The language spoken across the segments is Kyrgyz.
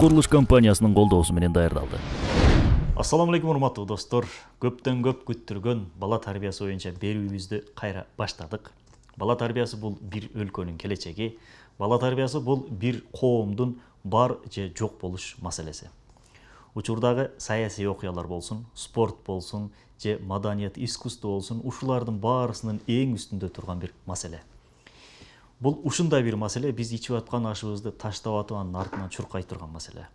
курулуш компаниясынын колдоосу менен даярдалды. Ассаламу алейкум урматтуу достор. Көптөн көп күттүргөн бала тарбиясы боюнча берүүбүздү кайра баштадык. Бала тарбиясы бул бир өлкөнүн келечеги. Бала тарбиясы бул бир коомдун бар же жок болуш маселеси. Учурдагы саясий окуялар болсун, спорт болсун, же маданият, искусство болсун, ушулардын баарысынын эң үстүндө турган бир маселе. Бул ушундай бир маселе, биз ичип аткан ашыбызды таштап атып анын артынан чуркай турган маселе.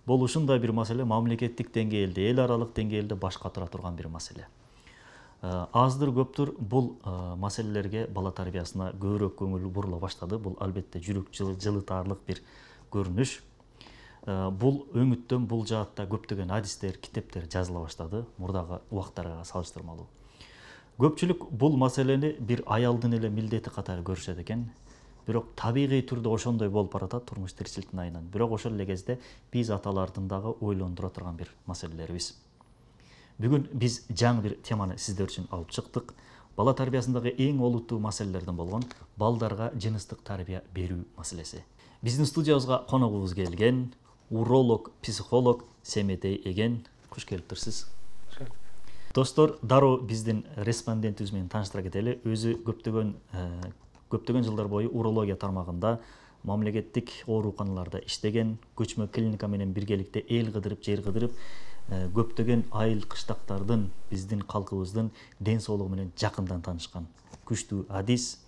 Бул ушундай бир маселе мамлекеттик деңгээлде, эл аралык деңгээлде баш катыра турган бир маселе. Аздыр көптүр бул маселелерге, бала тарбиясына көбүрөөк көңүл бурула баштады. Бул албетте жүрөк жылытаарлык бир көрүнүш. Бул өңүттөн бул жаатта көптөгөн адистер, китептер жазыла баштады мурдагы убактарга салыштырмалуу. Көпчүлүк бул маселени бир аялдын эле милдети катары көрүшөт экен. Бирок табигый түрдө ошондой болуп баратат турмуш тиричиликтин айынан. Бирок ошол эле кезде биз аталардын дагы ойлондура турган бир маселелерибиз. Бүгүн биз жаңы бир теманы сиздер үчүн алып чыктык. Бала тарбиясындагы эң олуттуу маселелерден болгон балдарга жыныстык тарбия берүү маселеси. Биздин студиябызга коногубуз келген уролог, психолог Семетей Эген. Куш келиптирсиз. Достор, дароо биздин респондентибиз менен тааныштыра кетели. Өзү көптөгөн жылдар бою урология тармагында мамлекеттик ооруканаларда иштеген, көчмө клиника менен биргеликте эл кыдырып, жер кыдырып, көптөгөн айыл кыштактардын, биздин калкыбыздын ден соолугу менен жакындан таанышкан күчтүү адис.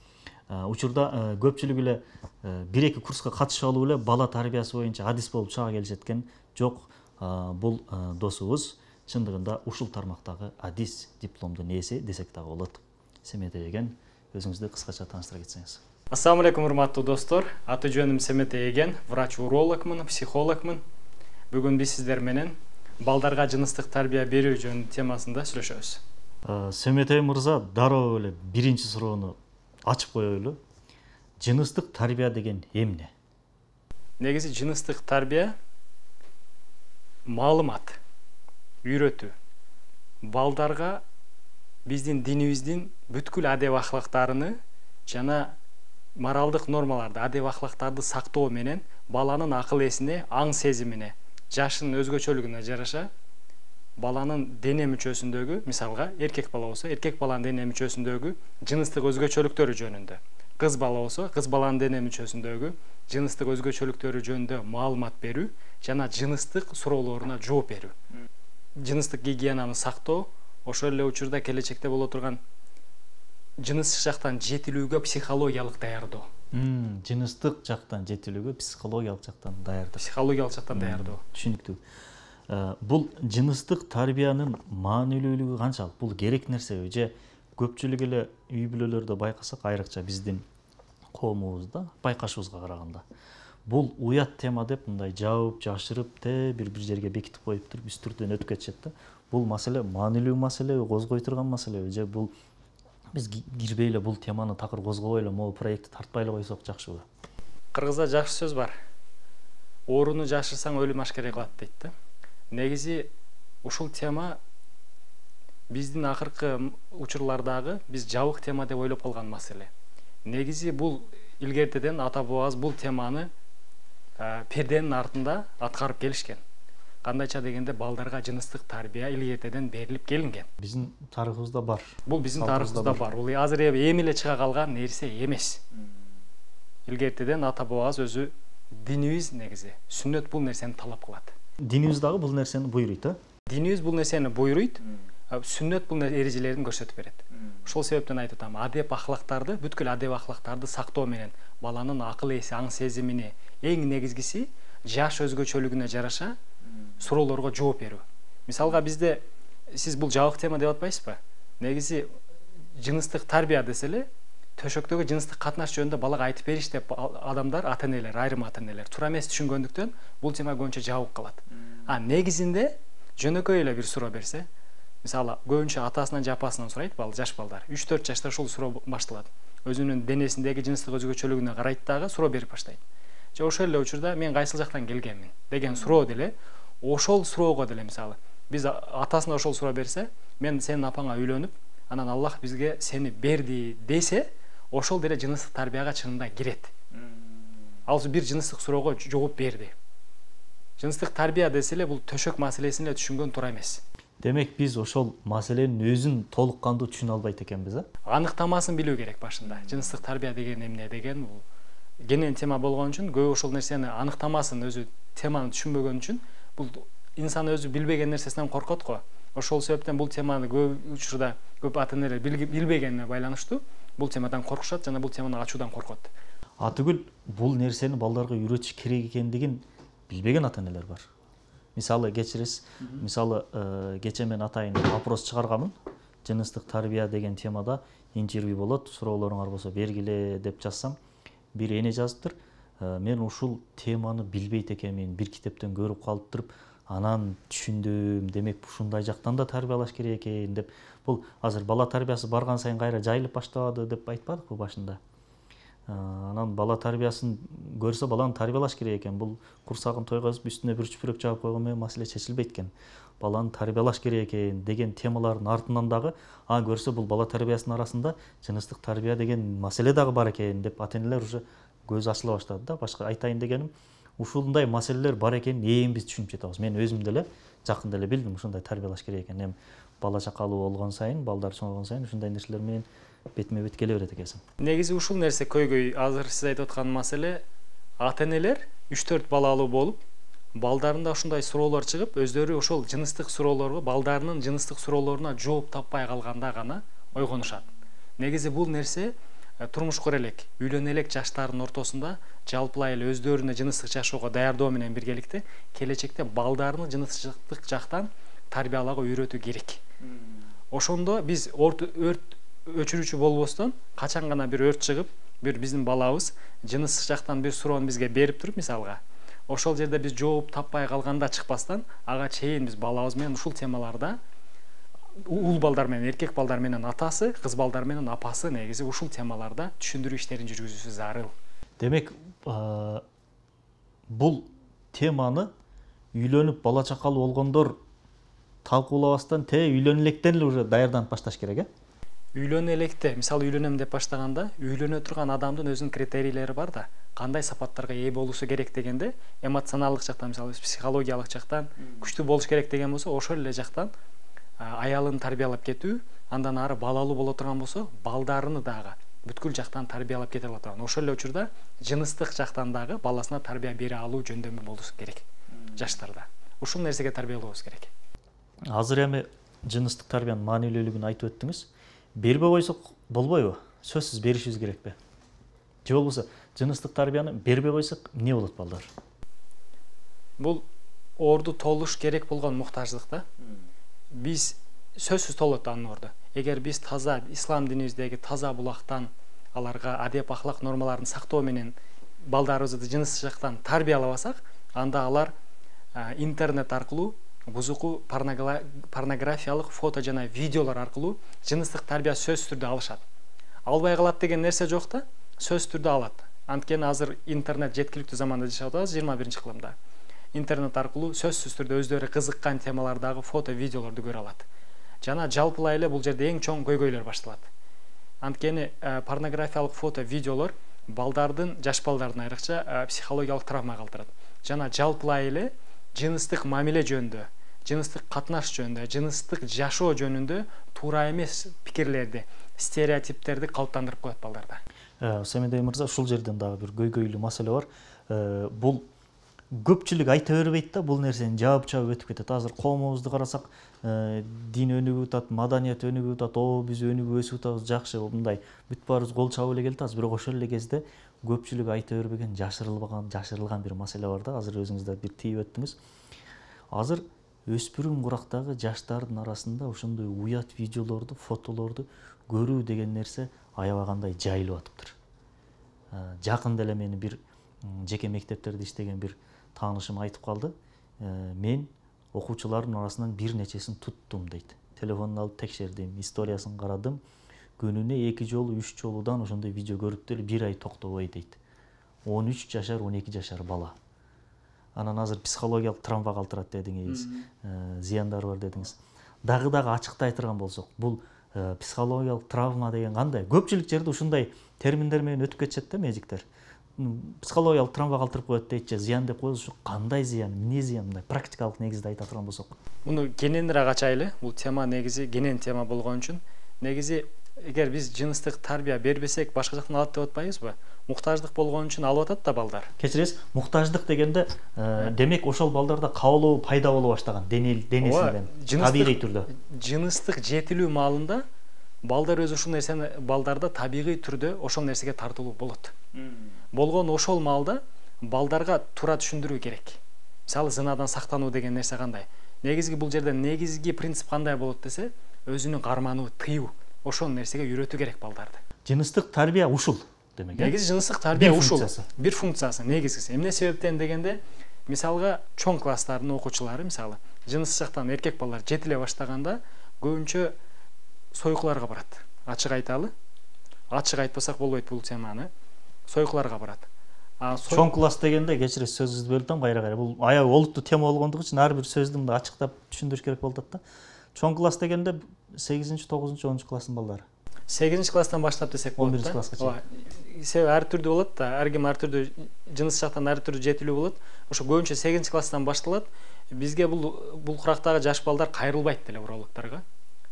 Учурда көпчүлүк эле бир-эки курска катышып алып эле бала тарбиясы боюнча адис болуп чыга келишет экен. Жок, бул досубуз чындыгында ушул тармактагы адис дипломдун ээси десек дагы болот. Семетей Эген, өзүңүздү кыскача тааныштыра кетсеңиз. Ассаламу алейкум урматтуу достор. Аты жөнүм Семетей Эген, врач-урологмун, психологмун. Бүгүн биз сиздер менен балдарга жыныстык тарбия берүү жөнүндө темасында сүйлөшөбүз. Семетей мырза, дароо эле биринчи суроону ачып коелу. Жыныстык тарбия деген эмне? Негизи жыныстык тарбия маалымат, үйрөтүү. Балдарга биздин динибиздин бүткүл адеп ахлактарыны жана моралдык нормаларды, адеп ахлактарды сактоо менен баланын акыл эсине, аң сезимине, жашынын өзгөчөлүгүнө жараша баланын дене мүчөсүндөгү, мисалга эркек бала болсо, эркек баланын дене мүчөсүндөгү жыныстык өзгөчөлүктөрү жөнүндө, кыз бала болсо, кыз баланын дене мүчөсүндөгү жыныстык өзгөчөлүктөрү жөнүндө маалымат берүү жана жыныстык суроолоруна жооп берүү. Жыныстык гигиенаны сактоо, ошол эле учурда келечекте боло турган жыныстык жактан жетилүүгө психологиялык даярдоо. Жыныстык жактан жетилүүгө психологиялык жактан даярдоо. Психологиялык жактан даярдоо. Түшүнүктүү. Бул жыныстык тарбиянын маанилүүлүгү канчалык? Бул керек нерсеби же көпчүлүк эле үй бүлөлөрдө байкасак, айрыкча биздин коомубузда байкашыбызга караганда бул уят тема деп мындай жабып, жашырып, бир жерге бекитип коюп туруп үстүртөн өтүп кетишет да. Бул маселе маанилүү маселеби, козгой турган маселеби же бул биз кирбей эле бул теманы такыр козгобой эле могу проектти тартпай эле койсок жакшыбы? Кыргызда жакшы сөз бар. Ооруну жашырсаң өлүм ашкере кылат дейт да. Негизи ушул тема биздин акыркы учурлардагы биз жабык тема деп ойлоп калган маселе. Негизи бул илгертеден ата бабабыз бул теманы перденин артында аткарып келишкен. Кандайча дегенде балдарга жыныстык тарбия илгертеден берилип келинген. Биздин тарыхыбызда бар. Бул биздин тарыхыбызда бар. Бул азыр эми эле чыга калган нерсе эмес. Илгертеден ата бабабыз өзү динибиз негизи сүннөт бул нерсени талап кылат. Динибиз дагы бул нерсени буйруйт, Динибиз бул нерсени буйруйт, сүннөт бул эрежелерин көрсөтүп берет. Ошол себептен айтып атам, адеп ахлактарды, бүткүл адеп ахлактарды сактоо менен баланын акыл эси, аң сезимине эң негизгиси жаш өзгөчөлүгүнө жараша суроолорго жооп берүү. Мисалга бизде сиз бул жабык тема деп атпайсызбы? Негизи жыныстык тарбия деселе, төшөктөгү жыныстык катнаш жөнүндө балага айтып бериш деп адамдар, ата-энелер, айрым ата-энелер туура эмес түшүнгөндүктөн бул тема көбүнчө жабык калат. Негизинде жөнөкөй эле бир суроо берсе, мисалы көбүнчө атасынан же апасынан сурайт жаш балдар. 3-4 жашта ушул суроо башталат. Өзүнүн денесиндеги жыныстык өзгөчөлүгүнө карайт дагы суроо берип баштайт. Же ошол эле учурда мен кайсыл жактан келгенмин деген суроо деле, ошол суроого деле мисалы биз атасына ошол суроо берсе, мен сенин апаңа үйлөнүп, анан Аллах бизге сени берди десе, ошол деле жыныстык тарбияга чынында кирет. Ал бир жыныстык суроого жооп берди. Жыныстык тарбия десе эле бул төшөк маселесин эле түшүнгөн туура эмес. Демек биз ошол маселенин өзүн толук кандуу түшүнө албайт экенбиз, Аныктамасын билүү керек башында. Жыныстык тарбия деген эмне деген бул кенен тема болгон үчүн көп ошол нерсени аныктамасын өзү теманы түшүнбөгөн үчүн бул инсан өзү билбеген нерсесинен коркот го. Ошол себептен бул теманы көп учурда көп ата-энелер билбегенине байланыштуу бул темадан коркушат жана бул теманы ачуудан коркот. Атүгүл бул нерсени балдарга үйрөтүш керек экендигин билбеген ата-энелер бар. Мисалы кечиресиз, мисалы кечээ мен атайын опрос чыгарганмын. Жыныстык тарбия деген темада интервью болот, суроолоруңар болсо бергиле деп жазсам, бир эне жазыптыр. Мен ушул теманы билбейт экенмин, бир китептен көрүп калыптырып, анан түшүндүм. Демек ушундай жактан да тарбиялаш керек экен деп. Бул азыр бала тарбиясы барган сайын кайра жайылып баштабады деп айтпадыкпы башында? Анан бала тарбиясын көрсө баланы тарбиялаш керек экен. Бул курсагын тойгозуп үстүнө бир чүпүрөк жаап койгон менен маселе чечилбейт экен. Баланы тарбиялаш керек экен деген темалардын артынан дагы көрсө бул бала тарбиясынын арасында жыныстык тарбия деген маселе дагы бар экен деп ата-энелер уже көзү ачыла баштады да. Башка айтайын дегеним, ушундай маселелер бар экенин эми биз түшүнүп жатабыз. Мен өзүм деле жакында эле билдим ушундай тарбиялаш керек экен. Эми бала чакалуу болгон сайын, балдар чоңойгон сайын ушундай нерселер менен бетме бет келе берет экенсиң. Негизи ушул нерсе көйгөй азыр сиз айтып аткан маселе ата-энелер 3-4 балалуу болуп, балдарында ушундай суроолор чыгып, өздөрү ошол жыныстык суроолорго, балдарынын жыныстык суроолоруна жооп таппай калганда гана ойгонушат. Негизи бул нерсе турмуш кура элек, үйлөнө элек жаштардын ортосунда жалпылай эле өздөрүнө жыныстык жашоого даярдоо менен биргеликте келечекте балдарыны жыныстык жактан тарбиялоого үйрөтүү керек. Ошондо биз өрт өчүрүүчү болбостон качан гана бир өрт чыгып, бир биздин балабыз жыныстык жактан бир суроону бизге берип туруп, мисалга, ошол жерде биз жооп таппай калганда чыкпастан, ага чейин биз балабыз менен ушул темаларда уул балдар менен эркек балдар менен атасы, кыз балдар менен апасы негизи ушул темаларда түшүндүрүү иштерин жүргүзүүсү зарыл. Демек, бул теманы үйлөнүп бала чакалуу болгондор талкуулабастан үйлөнө электен эле уже даярданып башташ керек, Үйлөнө электе, мисалы үйлөнөм деп баштаганда, үйлөнө турган адамдын өзүнүн критерийлери бар да, кандай сапаттарга ээ болуусу керек дегенде, эмоционалдык жактан, мисалы психологиялык жактан күчтүү болуш керек деген болсо, ошол эле жактан аялын тарбиялап кетүү, андан ары балалуу боло турган болсо, балдарыны дагы бүткүл жактан тарбиялап кете ала турган. Ошол эле учурда жыныстык жактан дагы баласына тарбия бере алуу жөндөмү болушу керек жаштарда. Ушул нерсеге тарбиялообуз керек. Азыр эми жыныстык тарбиянын маанилүүлүгүн айтып өттүңүз. Бербей койсок болбойбу? Сөзсүз беришибиз керекпи? Же болбосо жыныстык тарбияны бербей койсок эмне болот балдар? Бул орду толуш керек болгон муктаждык да. Биз сөзсүз толот анын орду. Эгер биз таза ислам динибиздеги таза булактан аларга адеп ахлак нормаларын сактоо менен балдарыбызды жыныстык жактан тарбиялабасак, анда алар интернет аркылуу бузуку порнографиялык фото жана видеолор аркылуу жыныстык тарбия сөзсүз түрдө алышат. Албай калат деген нерсе жок да, сөзсүз түрдө алат. Анткени азыр интернет жеткиликтүү заманда жашап атабыз, 21-кылымда. Интернет аркылуу сөзсүз түрдө өздөрү кызыккан темалардагы фото, видеолорду көрө алат. Жана жалпылай эле бул жерде эң чоң көйгөйлөр башталат. Анткени порнографиялык фото, видеолор балдардын, жаш балдардын айрыкча психологиялык травма калтырат. Жана жалпылай эле жыныстык мамиле жөнүндө, жыныстык катнаш жөнүндө, жыныстык жашоо жөнүндө туура эмес пикирлерди, стереотиптерди калыптандырып коет балдарда. Семедей мырза, ушул жерден дагы бир көйгөйлүү маселе бар. Бул көпчүлүк айта бербейт да, бул нерсени жаап өтүп кетет. Азыр коомубузду карасак, дин өнүгүп атат, маданият өнүгүп атат, биз өнүгүп өсүп атабыз, жакшы, мындай бүт баарыбыз кол чабып эле келатабыз. Бирок ошол эле кезде көпчүлүк айта бербеген, жашырылган бир маселе бар да. Азыр өзүңүз да бир тийип өттүңүз. Азыр өспүрүм курактагы жаштардын арасында ошондой уят видеолорду, фотолорду көрүү деген нерсе аябагандай жайылып атыптыр. Жакында эле мени бир жеке мектептерде иштеген бир таанышым айтып калды. Мен окуучулардын арасынан бир нечесин туттум дейт. Телефонун алып текшердим, историясын карадым. Күнүнө 2 жолу, 3 жолудан ошондой видео көрүп деле 1 ай токтобой дейт. 13 жашар, 12 жашар бала. Анан азыр психологиялык травма калтырат дедиңиз, зыяндары бар дедиңиз. Дагы ачыктай турган болсок, бул психологиялык травма деген кандай? Көпчүлүк жерде ушундай терминдер менен өтүп кетишет да медиктер. психологиялык травма калтырып коет дейт же зыян деп коебуз. Кандай зыян, эмне зыян, мындай практикалык негизде айта турган болсок? Муну кененирээк ачайлы. Бул тема негизи кенен тема болгон үчүн негизи эгер биз жыныстык тарбия бербесек башка жактан алат деп атпайбызбы? Муктаждык болгон үчүн алып атат да балдар. Кечиресиз, муктаждык дегенде демек ошол балдарда кабылуу пайда боло баштаган денесинен табигый түрдө. Жыныстык жетилүү маалында балдар өзү ушул нерсени балдарда табигый түрдө ошол нерсеге тартылуу болот. Болгон ошол маалда балдарга туура түшүндүрүү керек. Мисалы зынадан сактануу деген нерсе кандай? Негизги бул жерде негизги принцип кандай болот десе, өзүнүн кармануу, тыюу. Ошол нерсеге үйрөтүү керек балдарды. Жыныстык тарбия ушул демек. Негизи жыныстык тарбия ушул. Бир функциясы, негизгиси. Эмне себептен дегенде, мисалга чоң класстардын окуучулары, мисалы, жыныстык жактан эркек балдар жетиле баштаганда көбүнчө сойкуларга барат. Ачык айталы. Ачык айтпасак болбойт бул теманы. Сойкуларга барат. Чоң класс дегенде кечиресиз сөзүңүздү бөлүп атам кайра бул аябай олуттуу тема болгондугу үчүн ар бир сөздү мындай ачыктап түшүндүрүш керек болуп атат да. Чоң класс дегенде 8-9, 10 класстын балдары. 8 класстан баштап десек болот. 11 класска чейин. Себеби ар түрдүү болот да, ар ким ар түрдүү жыныс жактан ар түрдүү жетилүү болот. Ошо көбүнчө 8 класстан башталат. Бизге бул курактагы жаш балдар кайрылбайт деле урологторго.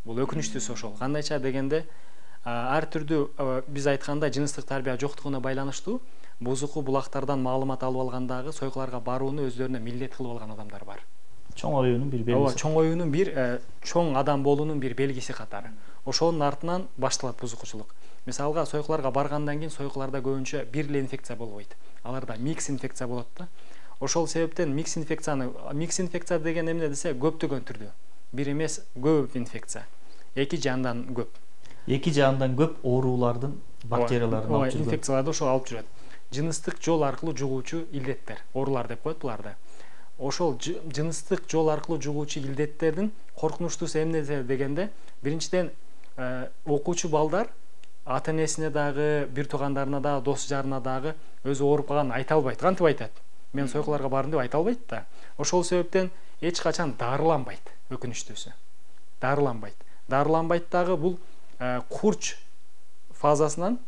Бул өкүнүчтүүсү ошол. Кандайча дегенде ар түрдүү биз айткандай жыныстык тарбия жоктугуна байланыштуу бузуку булактардан маалымат алып алгандагы сойкуларга барууну өздөрүнө милдет кылып алган адамдар бар. Чоң оюунун бир белгиси. Ооба, чоң оюунун бир чоң адам болуунун бир белгиси катары. Ошонун артынан башталат бузукучулук. Мисалга сойкуларга баргандан кийин сойкуларда көбүнчө бир эле инфекция болбойт. Аларда микс инфекция болот да. Ошол себептен микс инфекция деген эмне десе көптөгөн түрдүү. Бир эмес, көп инфекция. 2 же андан көп. 2 же андан көп оорулардын, бактериялардын алып жүргөн. Инфекцияларды ошол алып жүрөт. Жыныстык жол аркылуу жугуучу илдеттер, оорулар деп коет буларды. Ошол жыныстык жол аркылуу жугуучу илдеттердин коркунучтуусу эмне дегенде, биринчиден окуучу балдар ата-энесине дагы, бир туугандарына дагы, дос жарына дагы өзү ооруп калганын айта албайт. Кантип айтат? Мен сойкуларга бардым деп айта албайт да. Ошол себептен эч качан дарыланбайт, өкүнүчтүүсү. Дарыланбайт дагы бул курч фазасынан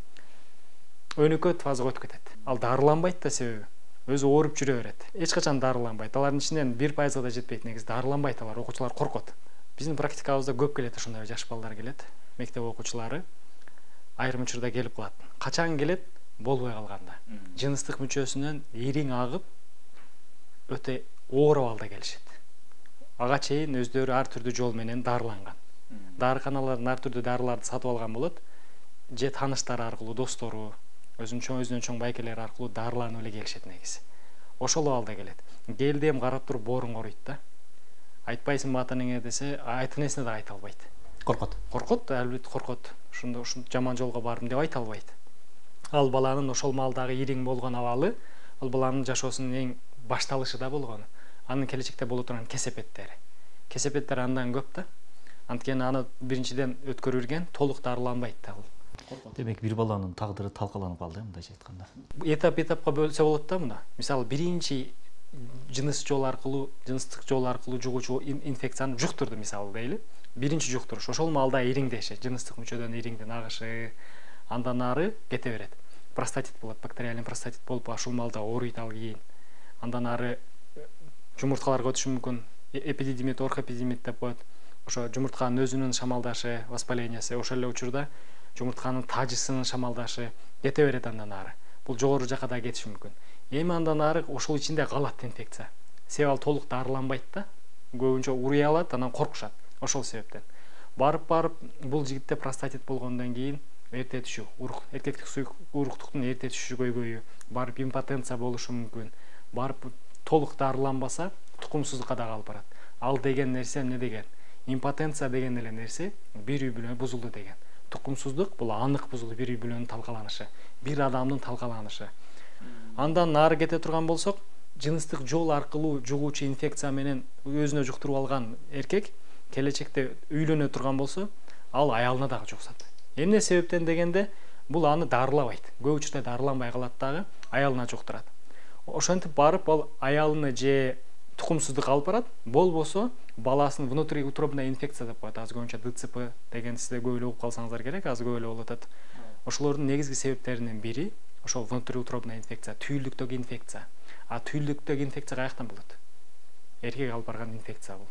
өнөкөт фазага өтүп кетет. Ал дарыланбайт да себеби өзү ооруп жүрө берет. Эч качан дарыланбайт. Алардын ичинен 1% да жетпейт, негизи дарыланбайт алар. Окуучулар коркот. Биздин практикабызда көп келет ошондой жаш балдар келет. Мектеп окуучулары айрым учурда келип калат. Качан келет? Болбой калганда. Жыныстык мүчөсүнөн ириң агып өтө оор абалда келишет. Ага чейин өздөрү ар түрдүү жол менен дарыланган. Дарыканалардан ар түрдүү дарыларды сатып алган болот. Же тааныштары аркылуу, достору, өзүнүн чоң байкелери аркылуу дарыланып эле келишет негизи. Ошол абалда келет. Келди эм карап туруп боорун коруйт да. Айтпайсыңбы ата-энеңе десе, ата-энесине да айта албайт. Коркот, албетте коркот. Ушунда жаман жолго бардым деп айта албайт. Ал баланын ошол маалдагы ириң болгон абалы, ал баланын жашоосунун эң башталышы да болгон. Анын келечекте боло турган кесепеттери. Кесепеттер андан көп да. Анткени аны биринчиден өткөрүлгөн, толук дарыланбайт да ал. Демек бир баланын тагдыры талкаланып калды, мындайча айтканда. Этап-этапка бөлсө болот да муну. Мисалы, биринчи жыныстык жол аркылуу жугуучу инфекцияны жуктурду мисалы дейли. Биринчи жуктуруш ошол маалда ириңдеши, жыныстык мүчөдөн ириңдин агышы, андан ары кете берет. Простатит болот, бактериальный простатит болуп ушул маалда ооруйт ал кийин. Андан ары жумурткаларга өтүшү мүмкүн. Эпидидимит, орхоэпидидимит деп коет. Ошо жумуртканын өзүнүн шамалдашы, воспалениеси, ошол эле учурда жумуртканын тажысынын шамалдашы кете берет андан ары. Бул жогору жакка да кетиши мүмкүн. Эми андан ары ошол ичинде калат инфекция. Себеби ал толук дарыланбайт да. Көбүнчө урый алат, анан коркушат. Ошол себептен. Барып бул жигитте простатит болгондон кийин эрте түшүү, эркектик уруктуктун эрте түшүшү көйгөйү, барып импотенция болушу мүмкүн. Барып толук дарыланбаса, тукумсуздукка да алып барат. Ал деген нерсе эмне деген? Импотенция деген эле нерсе бир үй бүлө бузулду деген. Тукумсуздук бул анык бузулуу бир үй бүлөнүн талкаланышы, бир адамдын талкаланышы. Андан нары кете турган болсок, жыныстык жол аркылуу жугуучу инфекция менен өзүнө жуктуруп алган эркек келечекте үйлөнө турган болсо, ал аялына дагы жуксат. Эмне себептен дегенде, бул аны дарылабайт. Көп учурда дарыланбай калат дагы, аялына жуктурат. Ошентип барып ал аялыны же тукумсуздук алып барат, болбосо баласынын внутриутробная инфекция деп коет. Азыр көбүнчө ДЦП деген сизде көп эле угуп калсаңыздар керек, азыр көп эле болуп атат. Ошолордун негизги себептеринин бири ошол внутриутробная инфекция, түйүлдүктөгү инфекция. А түйүлдүктөгү инфекция каяктан болот? Эркек алып барган инфекция бул.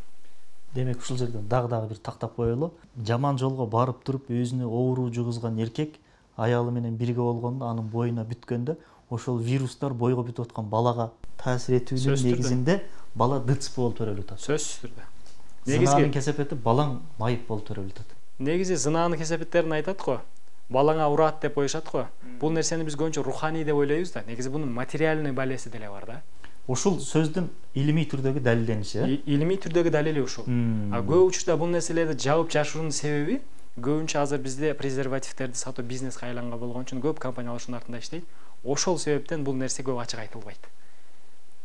Демек ушул жерден дагы бир тактап коелу. Жаман жолго барып туруп өзүнө оору жугузган эркек аялы менен бирге болгондо анын боюна бүткөндө ошол вирустар бойго бүтүп аткан балага таасир этүүнүн негизинде бала ДЦП болуп төрөлүп атат. Сөзсүз түрдө. Зынаанын кесепети балаң майып болуп төрөлүп атат. Негизи зынаанын кесепеттерин айтат го. Балаңа урат деп коюшат го. Бул нерсени биз көбүнчө руханий деп ойлойбуз да. Негизи бунун материальный балеси деле бар да. Ушул сөздүн илимий түрдөгү далилдениши. Илимий түрдөгү далили ушул. А көп учурда бул нерселерди жабып жашыруунун себеби көбүнчө азыр бизде презервативтерди сатуу бизнеске айланган болгон үчүн көп компаниялар ушунун артында иштейт. Ошол себептен бул нерсе көп ачык айтылбайт.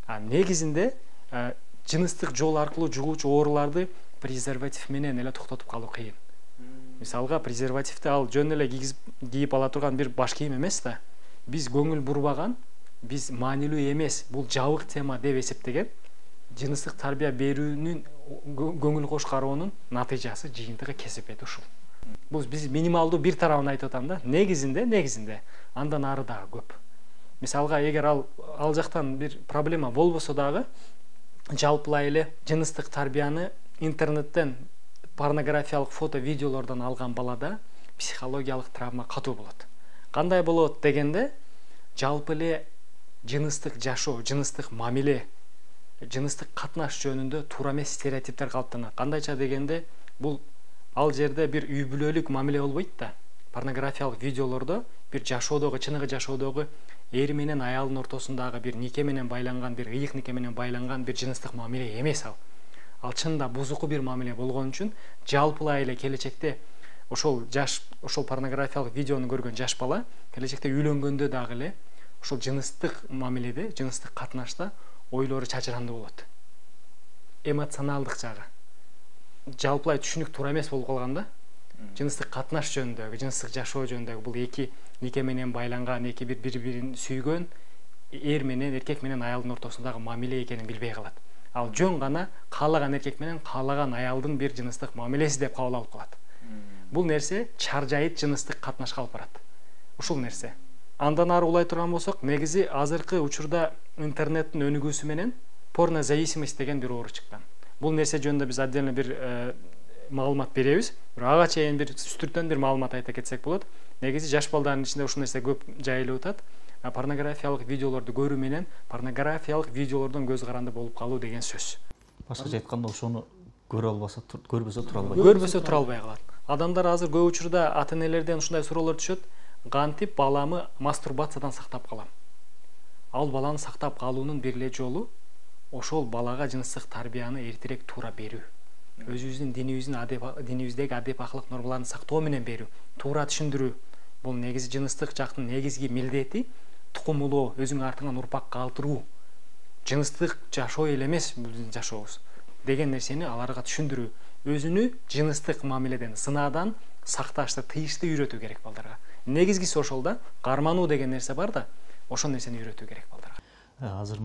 А негизинде жыныстык жол аркылуу жугуучу ооруларды презерватив менен эле токтотуп калуу кыйын. Мисалга презервативди ал жөн эле кийип ала турган бир баш кийим эмес да. Биз көңүл бурбаган, биз маанилүү эмес, бул жабык тема деп эсептеген жыныстык тарбия берүүнүн көңүл кош кароонун натыйжасы, жыйынтыгы кесепети ушул. Бул биз минималдуу бир тарабын айтып атам да. Негизинде андан ары дагы көп. Мисалга эгер ал жактан бир проблема болбосо дагы жалпылай эле жыныстык тарбияны интернеттен порнографиялык фото, видеолордон алган балада психологиялык травма катуу болот. Кандай болот дегенде, жалпы эле жыныстык жашоо, жыныстык мамиле, жыныстык катнаш жөнүндө туура эмес стереотиптер калыптанат. Кандайча дегенде, бул ал жерде бир үй бүлөлүк мамиле болбойт да. Порнографиялык видеолордо бир жашоодогу, чыныгы жашоодогу эр менен аялдын ортосундагы бир нике менен байланган, бир ыйык нике менен байланган бир жыныстык мамиле эмес ал. Ал чынында бузуку бир мамиле болгон үчүн жалпылай эле келечекте ошол порнографиялык видеону көргөн жаш бала келечекте үйлөнгөндө дагы эле ошол жыныстык мамиледе, жыныстык катнашта ойлору чачырандуу болот. Эмоционалдык жагы. Жалпылай түшүнүк туура эмес болуп калганда, жыныстык катнаш жөнүндөгү, жыныстык жашоо жөнүндөгү бул эки нике менен байланган, эки бири-бирин сүйгөн эр менен, эркек менен аялдын ортосундагы мамиле экенин билбей калат. Ал жөн гана каалаган эркек менен каалаган аялдын бир жыныстык мамилеси деп кабыл алып калат. Бул нерсе чаржайыт жыныстык катнашка алып барат. Ушул нерсе. Андан ары улай турган болсок, негизи азыркы учурда интернеттин өнүгүүсү менен порнозависимость деген бир оору чыккан. Бул нерсе жөнүндө биз отдельно бир маалымат беребиз. Ага чейин бир үстүртөн бир маалымат айта кетсек болот. Негизи жаш балдардын ичинде ушул нерсе көп жайылып атат. Порнографиялык видеолорду көрүү менен порнографиялык видеолордон көз каранды болуп калуу деген сөз. Башкача айтканда ошону көрбөсө тура албайт. Көрбөсө тура албай калат. Адамдар азыр көп учурда ата-энелерден ушундай суроолор түшөт. Кантип баламы мастурбациядан сактап калам? Ал баланы сактап калуунун бир эле жолу ошол балага жыныстык тарбияны эртерээк туура берүү. Өзүбүздүн динибиздеги адеп акылык нормаларын сактоо менен берүү, туура түшүндүрүү. Бул негизи жыныстык жактын негизги милдети тукумулоо, өзүңүн артыңан урпак калтыруу. Жыныстык жашоо эле эмес биздин жашообуз деген нерсени аларга түшүндүрүү. Өзүнү жыныстык мамиледен, сынаадан сакташты, тыйышты үйрөтүү керек балдарга. Негизгиси ошол да, кармануу деген нерсе бар да, ошол нерсени үйрөтүү керек балдарга. Азыр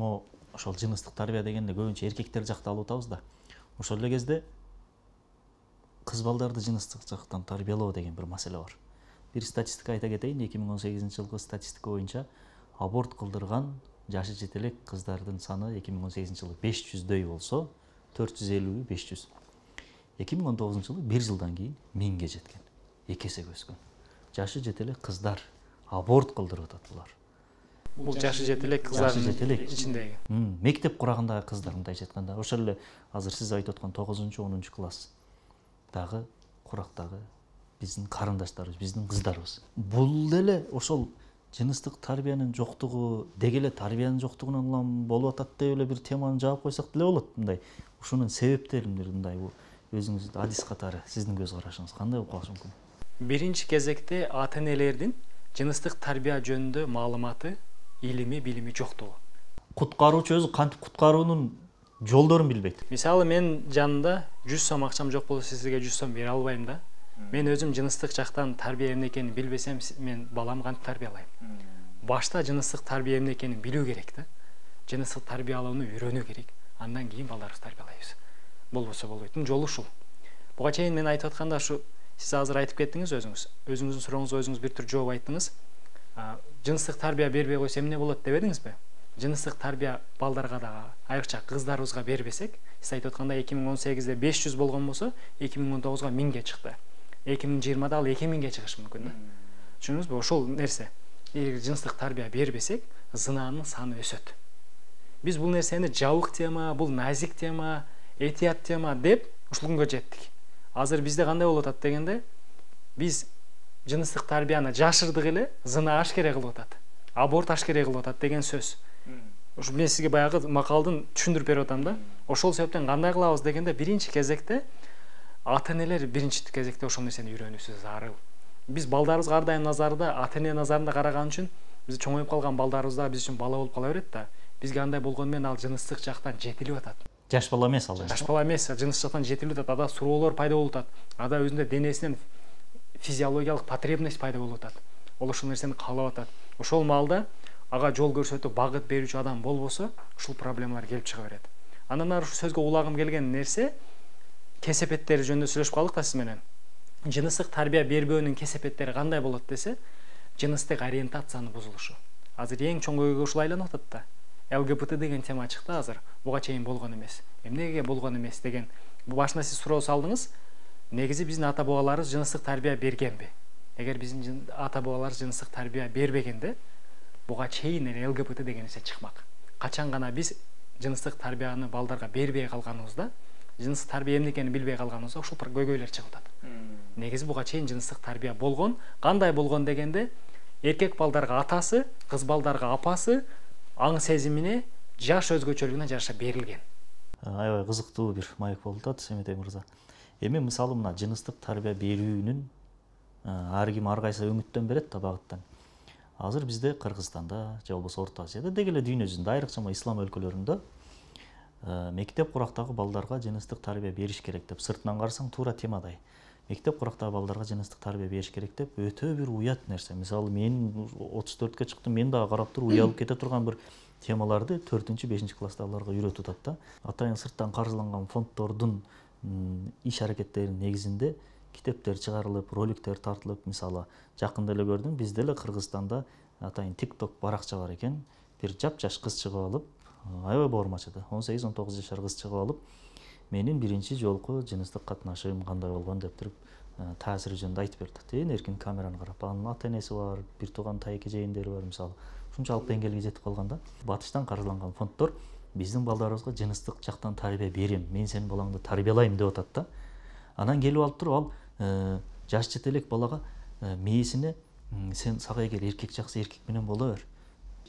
ошол жыныстык тарбия дегенде көбүнчө эркектер жакта алып атабыз да. Ошол эле кезде кыз балдарды жыныстык жактан тарбиялоо деген бир маселе бар. Бир статистика айта кетейин, 2018-жылкы статистика боюнча аборт кылдырган жашы жете элек кыздардын саны 2018-жылы 500дөй болсо, 450 500. 2019-жылы 1 жылдан кийин 1000ге жеткен. 2 эсеге өскөн. Жашы жете элек кыздар аборт кылдырып атат булар. Бул жашы жете элек кыздардын ичиндеги. Мектеп курагындагы кыздар мындайча айтканда, ошол эле азыр сиз айтып аткан 9-10 класс дагы курактагы биздин карындаштарыбыз, биздин кыздарыбыз. Бул деле ошол жыныстык тарбиянын жоктугу, деги эле тарбиянын жоктугунан улам болуп атат деп эле бир теманы жаап койсок деле болот. Мындай ушунун себептерин мындай өзүңүздүн адис катары сиздин көз карашыңыз кандай болуп калышы мүмкүн? Биринчи кезекте ата-энелердин жыныстык тарбия жөнүндө маалыматы, илими, билими жоктугу. Куткаруучу өзү кантип куткаруунун жолдорун билбейт. Мисалы мен жанында 100 сом акчам жок болсо сизге 100 сом бере албайм да. Мен өзүм жыныстык жактан тарбия эмне экенин билбесем, мен баламды кантип тарбиялайм? Башта жыныстык тарбия эмне экенин билүү керек да. Жыныстык тарбиялоону үйрөнүү керек. Андан кийин балдарыбызды тарбиялайбыз. Болбосо болбойт. Жолу ушул. Буга чейин мен айтып атканда ушу сиз азыр айтып кеттиңиз өзүңүз. Өзүңүздүн сурооңузга өзүңүз бир түр жооп айттыңыз. Жыныстык тарбия бербей койсо эмне болот дебедиңизби? Жыныстык тарбия балдарга дагы, айрыкча кыздарыбызга бербесек, сиз айтып аткандай 2018-де 500 болгон болсо, 2019-га 1000ге чыкты. 2020-да ал 2000ге чыгышы мүмкүн да. Түшүндүңүзбү? Ошол нерсе. Эгер жыныстык тарбия бербесек, зынаанын саны өсөт. Биз бул нерсени жабык тема, бул назик тема, этият тема деп ушул күнгө жеттик. Азыр бизде кандай болуп атат дегенде, биз жыныстык тарбияны жашырдык эле, зына ашкере кылып атат. Аборт ашкере кылып атат деген сөз. Ушу мен сизге баягы макалдын түшүндүрүп берип атам да. Ошол себептен кандай кылабыз дегенде, биринчи кезекте ата-энелер биринчи кезекте ошол нерсени үйрөнүүсү зарыл. Биз балдарыбызга ар дайым назарда, ата-эне назарында караган үчүн биз чоңоюп калган балдарыбыз да биз үчүн бала болуп кала берет да. Бизге андай болгону менен ал жыныстык жактан жетилип атат. Жаш бала эмес ал. Жаш бала эмес, жыныстык жактан жетилип атат. Ада суроолор пайда болуп атат. Ада өзүндө денесинен физиологиялык потребность пайда болуп атат. Ол ошол нерсени каалап атат. Ошол маалда ага жол көрсөтүп багыт берүүчү адам болбосо, ушул проблемалар келип чыга берет. Андан ары ушу сөзгө улагым келген нерсе кесепеттери жөнүндө сүйлөшүп калдык да сиз менен. Жыныстык тарбия бербөөнүн кесепеттери кандай болот десе, жыныстык ориентациянын бузулушу. Азыр эң чоң көйгөй ушул айланып атат да. ЛГБТ деген тема чыкты азыр. Буга чейин болгон эмес. Эмнеге болгон эмес деген. Башында сиз суроо салдыңыз. Негизи биздин ата бабаларыбыз жыныстык тарбия бергенби? Эгер биздин ата бабаларыбыз жыныстык тарбия бербегенде, буга чейин эле ЛГБТ деген нерсе чыкмак. Качан гана биз жыныстык тарбияны балдарга бербей калганыбызда, жыныстык тарбия эмне экенин билбей калганыбызда ушул көйгөйлөр чыгып атат. Негизи буга чейин жыныстык тарбия болгон. Кандай болгон дегенде, эркек балдарга атасы, кыз балдарга апасы аң сезимине, жаш өзгөчөлүгүнө жараша берилген. Аябай кызыктуу бир маек болуп атат, Семетей мырза. Эми мисалы мына жыныстык тарбия берүүнүн ар ким ар кайсы өңүттөн берет да багыттан. Азыр бизде Кыргызстанда же болбосо Орто Азияда деги эле дүйнө жүзүндө, айрыкча ислам өлкөлөрүндө мектеп курактагы балдарга жыныстык тарбия бериш керек деп, сыртынан карасаң туура темадай. Мектеп курактагы балдарга жыныстык тарбия бериш керек деп өтө бир уят нерсе. Мисалы мен 34-кө чыктым, мен дагы карап туруп уялып кете турган бир темаларды 4-5 класстагыларга үйрөтүп атат да. Атайын сырттан каржыланган фонддордун иш аракеттеринин негизинде китептер чыгарылып, роликтер тартылып, мисалы жакында эле көрдүм, бизде эле Кыргызстанда атайын TikTok баракча бар экен. Бир жап-жаш кыз чыгып алып, аябай боормачыды. 18-19 жашар кыз чыгып алып, менин биринчи жолку жыныстык катнашым кандай болгон деп туруп таасири жөнүндө айтып берди. Эркин камераны карап, анын ата-энеси бар, бир тууган тайке жээндери бар, мисалы. Ушунчалык деңгээлге жетип калган да. Батыштан каржыланган фонддор биздин балдарыбызга жыныстык жактан тарбия берем, мен сенин балаңды тарбиялайм деп атат да. Анан келип алып туруп ал жаш жетелек балага мээсине сен сага эгер эркек жакса эркек менен боло бер.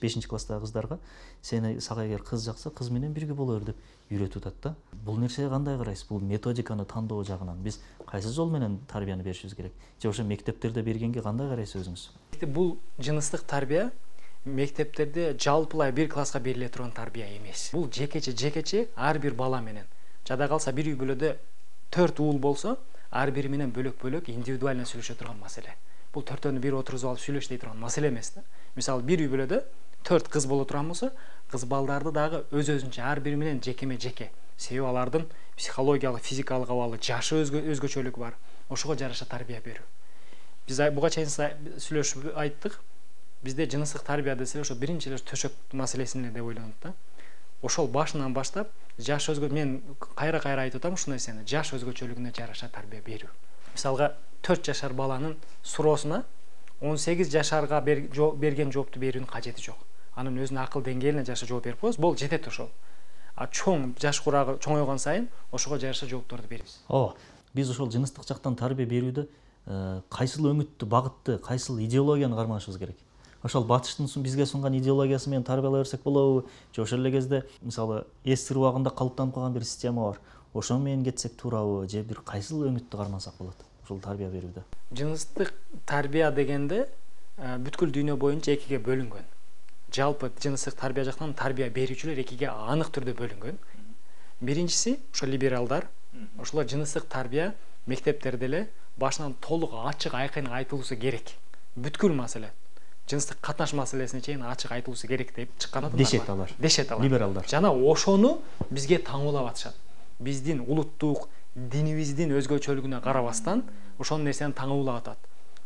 5-класстагы кыздарга сени сага эгер кыз жакса кыз менен бирге боло бер деп үйрөтүп атат да. Бул нерсеге кандай карайсыз? Бул методиканы тандоо жагынан биз кайсы жол менен тарбияны беришибиз керек? Же ошо мектептерде бергенге кандай карайсыз өзүңүз? Бул жыныстык тарбия мектептерде жалпылай бир класска бериле турган тарбия эмес. Бул жекече ар бир бала менен. Жада калса бир үй бүлөдө 4 уул болсо, ар бири менен бөлөк-бөлөк индивидуально сүйлөшө турган маселе. Бул төртөөнү бир отургузуп алып сүйлөш дей турган маселе эмес да. Мисалы бир үй бүлөдө 4 кыз боло турган болсо, кыз балдарды дагы өз-өзүнчө ар бири менен жеке. Себеби алардын психологиялык, физикалык абалы, жашы өзгөчөлүгү бар. Ошого жараша тарбия берүү. Биз буга чейин сүйлөшүп айттык. Бизде жыныстык тарбия десе ошо биринчи эле төшөк маселесине деп ойлонот да. Ошол башынан баштап жаш мен кайра айтып атам ушул нерсени, жаш өзгөчөлүгүнө жараша тарбия берүү. Мисалга 4 жашар баланын суроосуна 18 жашарга берген жоопту берүүнүн кажети жок. Анын өзүнүн акыл деңгээлине жараша жооп берип коебуз, бул жетет ошол. Чоң жаш курагы чоңойгон сайын ошого жараша жоопторду беребиз. Биз ошол жыныстык жактан тарбия берүүдө кайсыл өңүттү, багытты, кайсыл идеологияны карманышыбыз керек? Ошол батыштын бизге сунган идеологиясы менен тарбиялай берсек болобу? Же ошол эле кезде мисалы эстир убагында калыптанып калган бир система бар. Ошо менен кетсек туурабы? Же бир кайсыл өңүттү кармансак болот ушул тарбия берүүдө? Жыныстык тарбия дегенде бүткүл дүйнө боюнча экиге бөлүнгөн. Жалпы жыныстык тарбия жактан тарбия берүүчүлөр экиге анык түрдө бөлүнгөн. Биринчиси ошо либералдар. Ошолор жыныстык тарбия мектептерде эле башынан толук ачык айкын айтылуусу керек. Бүткүл маселе жыныстык катнаш маселесине чейин ачык айтылуусу керек деп чыккан адамдар бар. Дешет алар. Либералдар. Жана ошону бизге таңуулап атышат. Биздин улуттук динибиздин өзгөчөлүгүнө карабастан ошол нерсени таңуулап атат.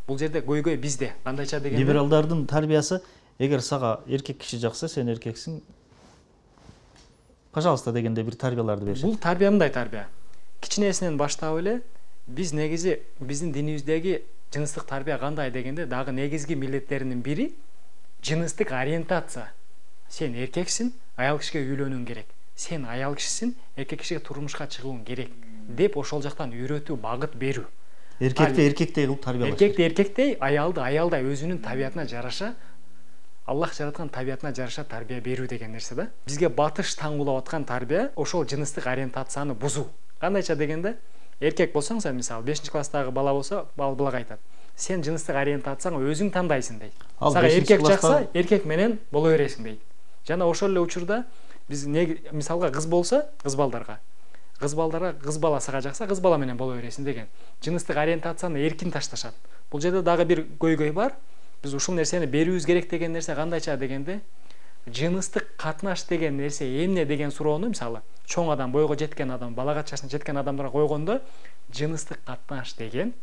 бул жерде көйгөй бизде кандайча дегенде либералдардын тарбиясы эгер сага эркек киши жакса сен эркексиң пожалуйста дегенде бир тарбияларды беришет. бул тарбия мындай тарбия кичинесинен баштап эле биз негизи биздин динибиздеги жыныстык тарбия кандай дегенде дагы негизги милдеттеринин бири жыныстык ориентация. Сен эркексиң, аял кишиге үйлөнүүң керек. Сен аял кишисиң, эркек кишиге турмушка чыгууң керек деп ошол жактан үйрөтүү, багыт берүү. Эркекти эркектей кылып тарбиялаш. Эркекти эркектей, аялды аялдай өзүнүн табиятына жараша, Аллах жараткан табиятына жараша тарбия берүү деген нерсе да. Бизге батыш таңгулап аткан тарбия ошол жыныстык ориентацияны бузуу. Кандайча дегенде, эркек болсоң сен мисалы 5-класстагы бала болсо, балага айтат. Сен жыныстык ориентацияңы өзүң тандайсың дейт. Сага эркек жакса, эркек менен боло бересиң дейт. Жана ошол эле учурда биз мисалга кыз болсо, кыз балдарга кыз бала сага жакса, кыз бала менен боло бересиң деген. Жыныстык ориентацияны эркин ташташат. Бул жерде дагы бир көйгөй бар. Биз ушул нерсени берүүбүз керек деген нерсе кандайча дегенде, жыныстык катнаш деген нерсе эмне деген суроону мисалы чоң адам, бойго жеткен адам, балага жашына жеткен адамдарга койгондо, жыныстык катнаш деген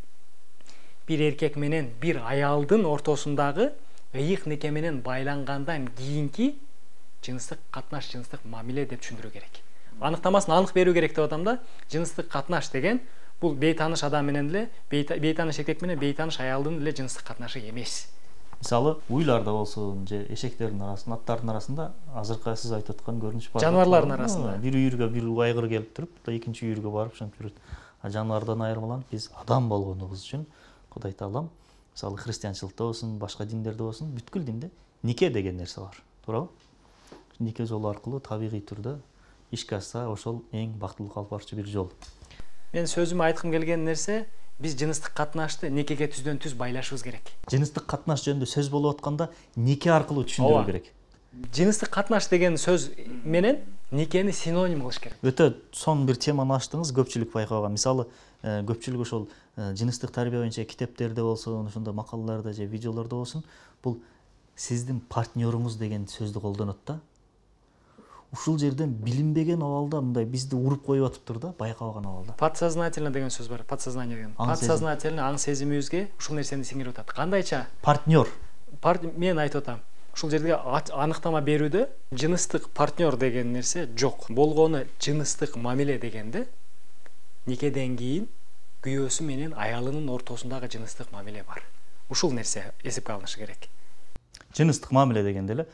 бир эркек менен бир аялдын ортосундагы ыйык неке менен байлангандан кийинки жыныстык катнаш, жыныстык мамиле деп түшүндүрүү керек. Аныктамасын анык берүү керек деп атам да. Жыныстык катнаш деген бул бейтааныш адам менен эле, бейтааныш эркек менен бейтааныш аялдын эле жыныстык катнашы эмес. Мисалы, уйларда болсун, же эшектердин арасында, аттардын арасында азыркы сиз айтып аткан көрүнүш бар. Жаныбарлардын арасында. Бир үйүргө бир айгыр келип туруп, экинчи үйүргө барып шантип жүрөт. Жаныбардан айырмаланып, биз адам болгонубуз үчүн Кудай Таалам, мисалы христианчылыкта болсун, башка диндерде болсун, бүткүл динде нике деген нерсе бар. Туурабы? Нике жолу аркылуу табигый түрдө ишке ашса, ошол эң бактылуу калып барчу бир жол. Мен сөзүмө айткым келген нерсе, биз жыныстык катнашты никеге түздөн түз байлашыбыз керек. Жыныстык катнаш жөнүндө сөз болуп атканда нике аркылуу түшүндүрүү керек. Жыныстык катнаш деген сөз менен никени синоним кылыш керек. Өтө сонун бир теманы ачтыңыз, көпчүлүк байкаган. Мисалы, көпчүлүк ошол жыныстык тарбия боюнча китептерде болсун, ошондо макалаларда же видеолордо болсун, бул сиздин партнеруңуз деген сөздү колдонот да. Ушул жерден билинбеген абалда мындай бизди уруп коюп атыптыр да, байкабаган абалда. Подсознательно деген сөз бар. Подсознание деген. Подсознательно аң сезимибизге ушул нерсени сиңирип атат. Кандайча? Партнер. Мен айтып атам. Ушул жерде аныктама берүүдө жыныстык партнер деген нерсе жок. Болгону жыныстык мамиле дегенде никеден кийин күйөөсү менен аялынын ортосундагы жыныстык мамиле бар. Ушул нерсе эсепке алынышы керек. Жыныстык мамиле дегенде эле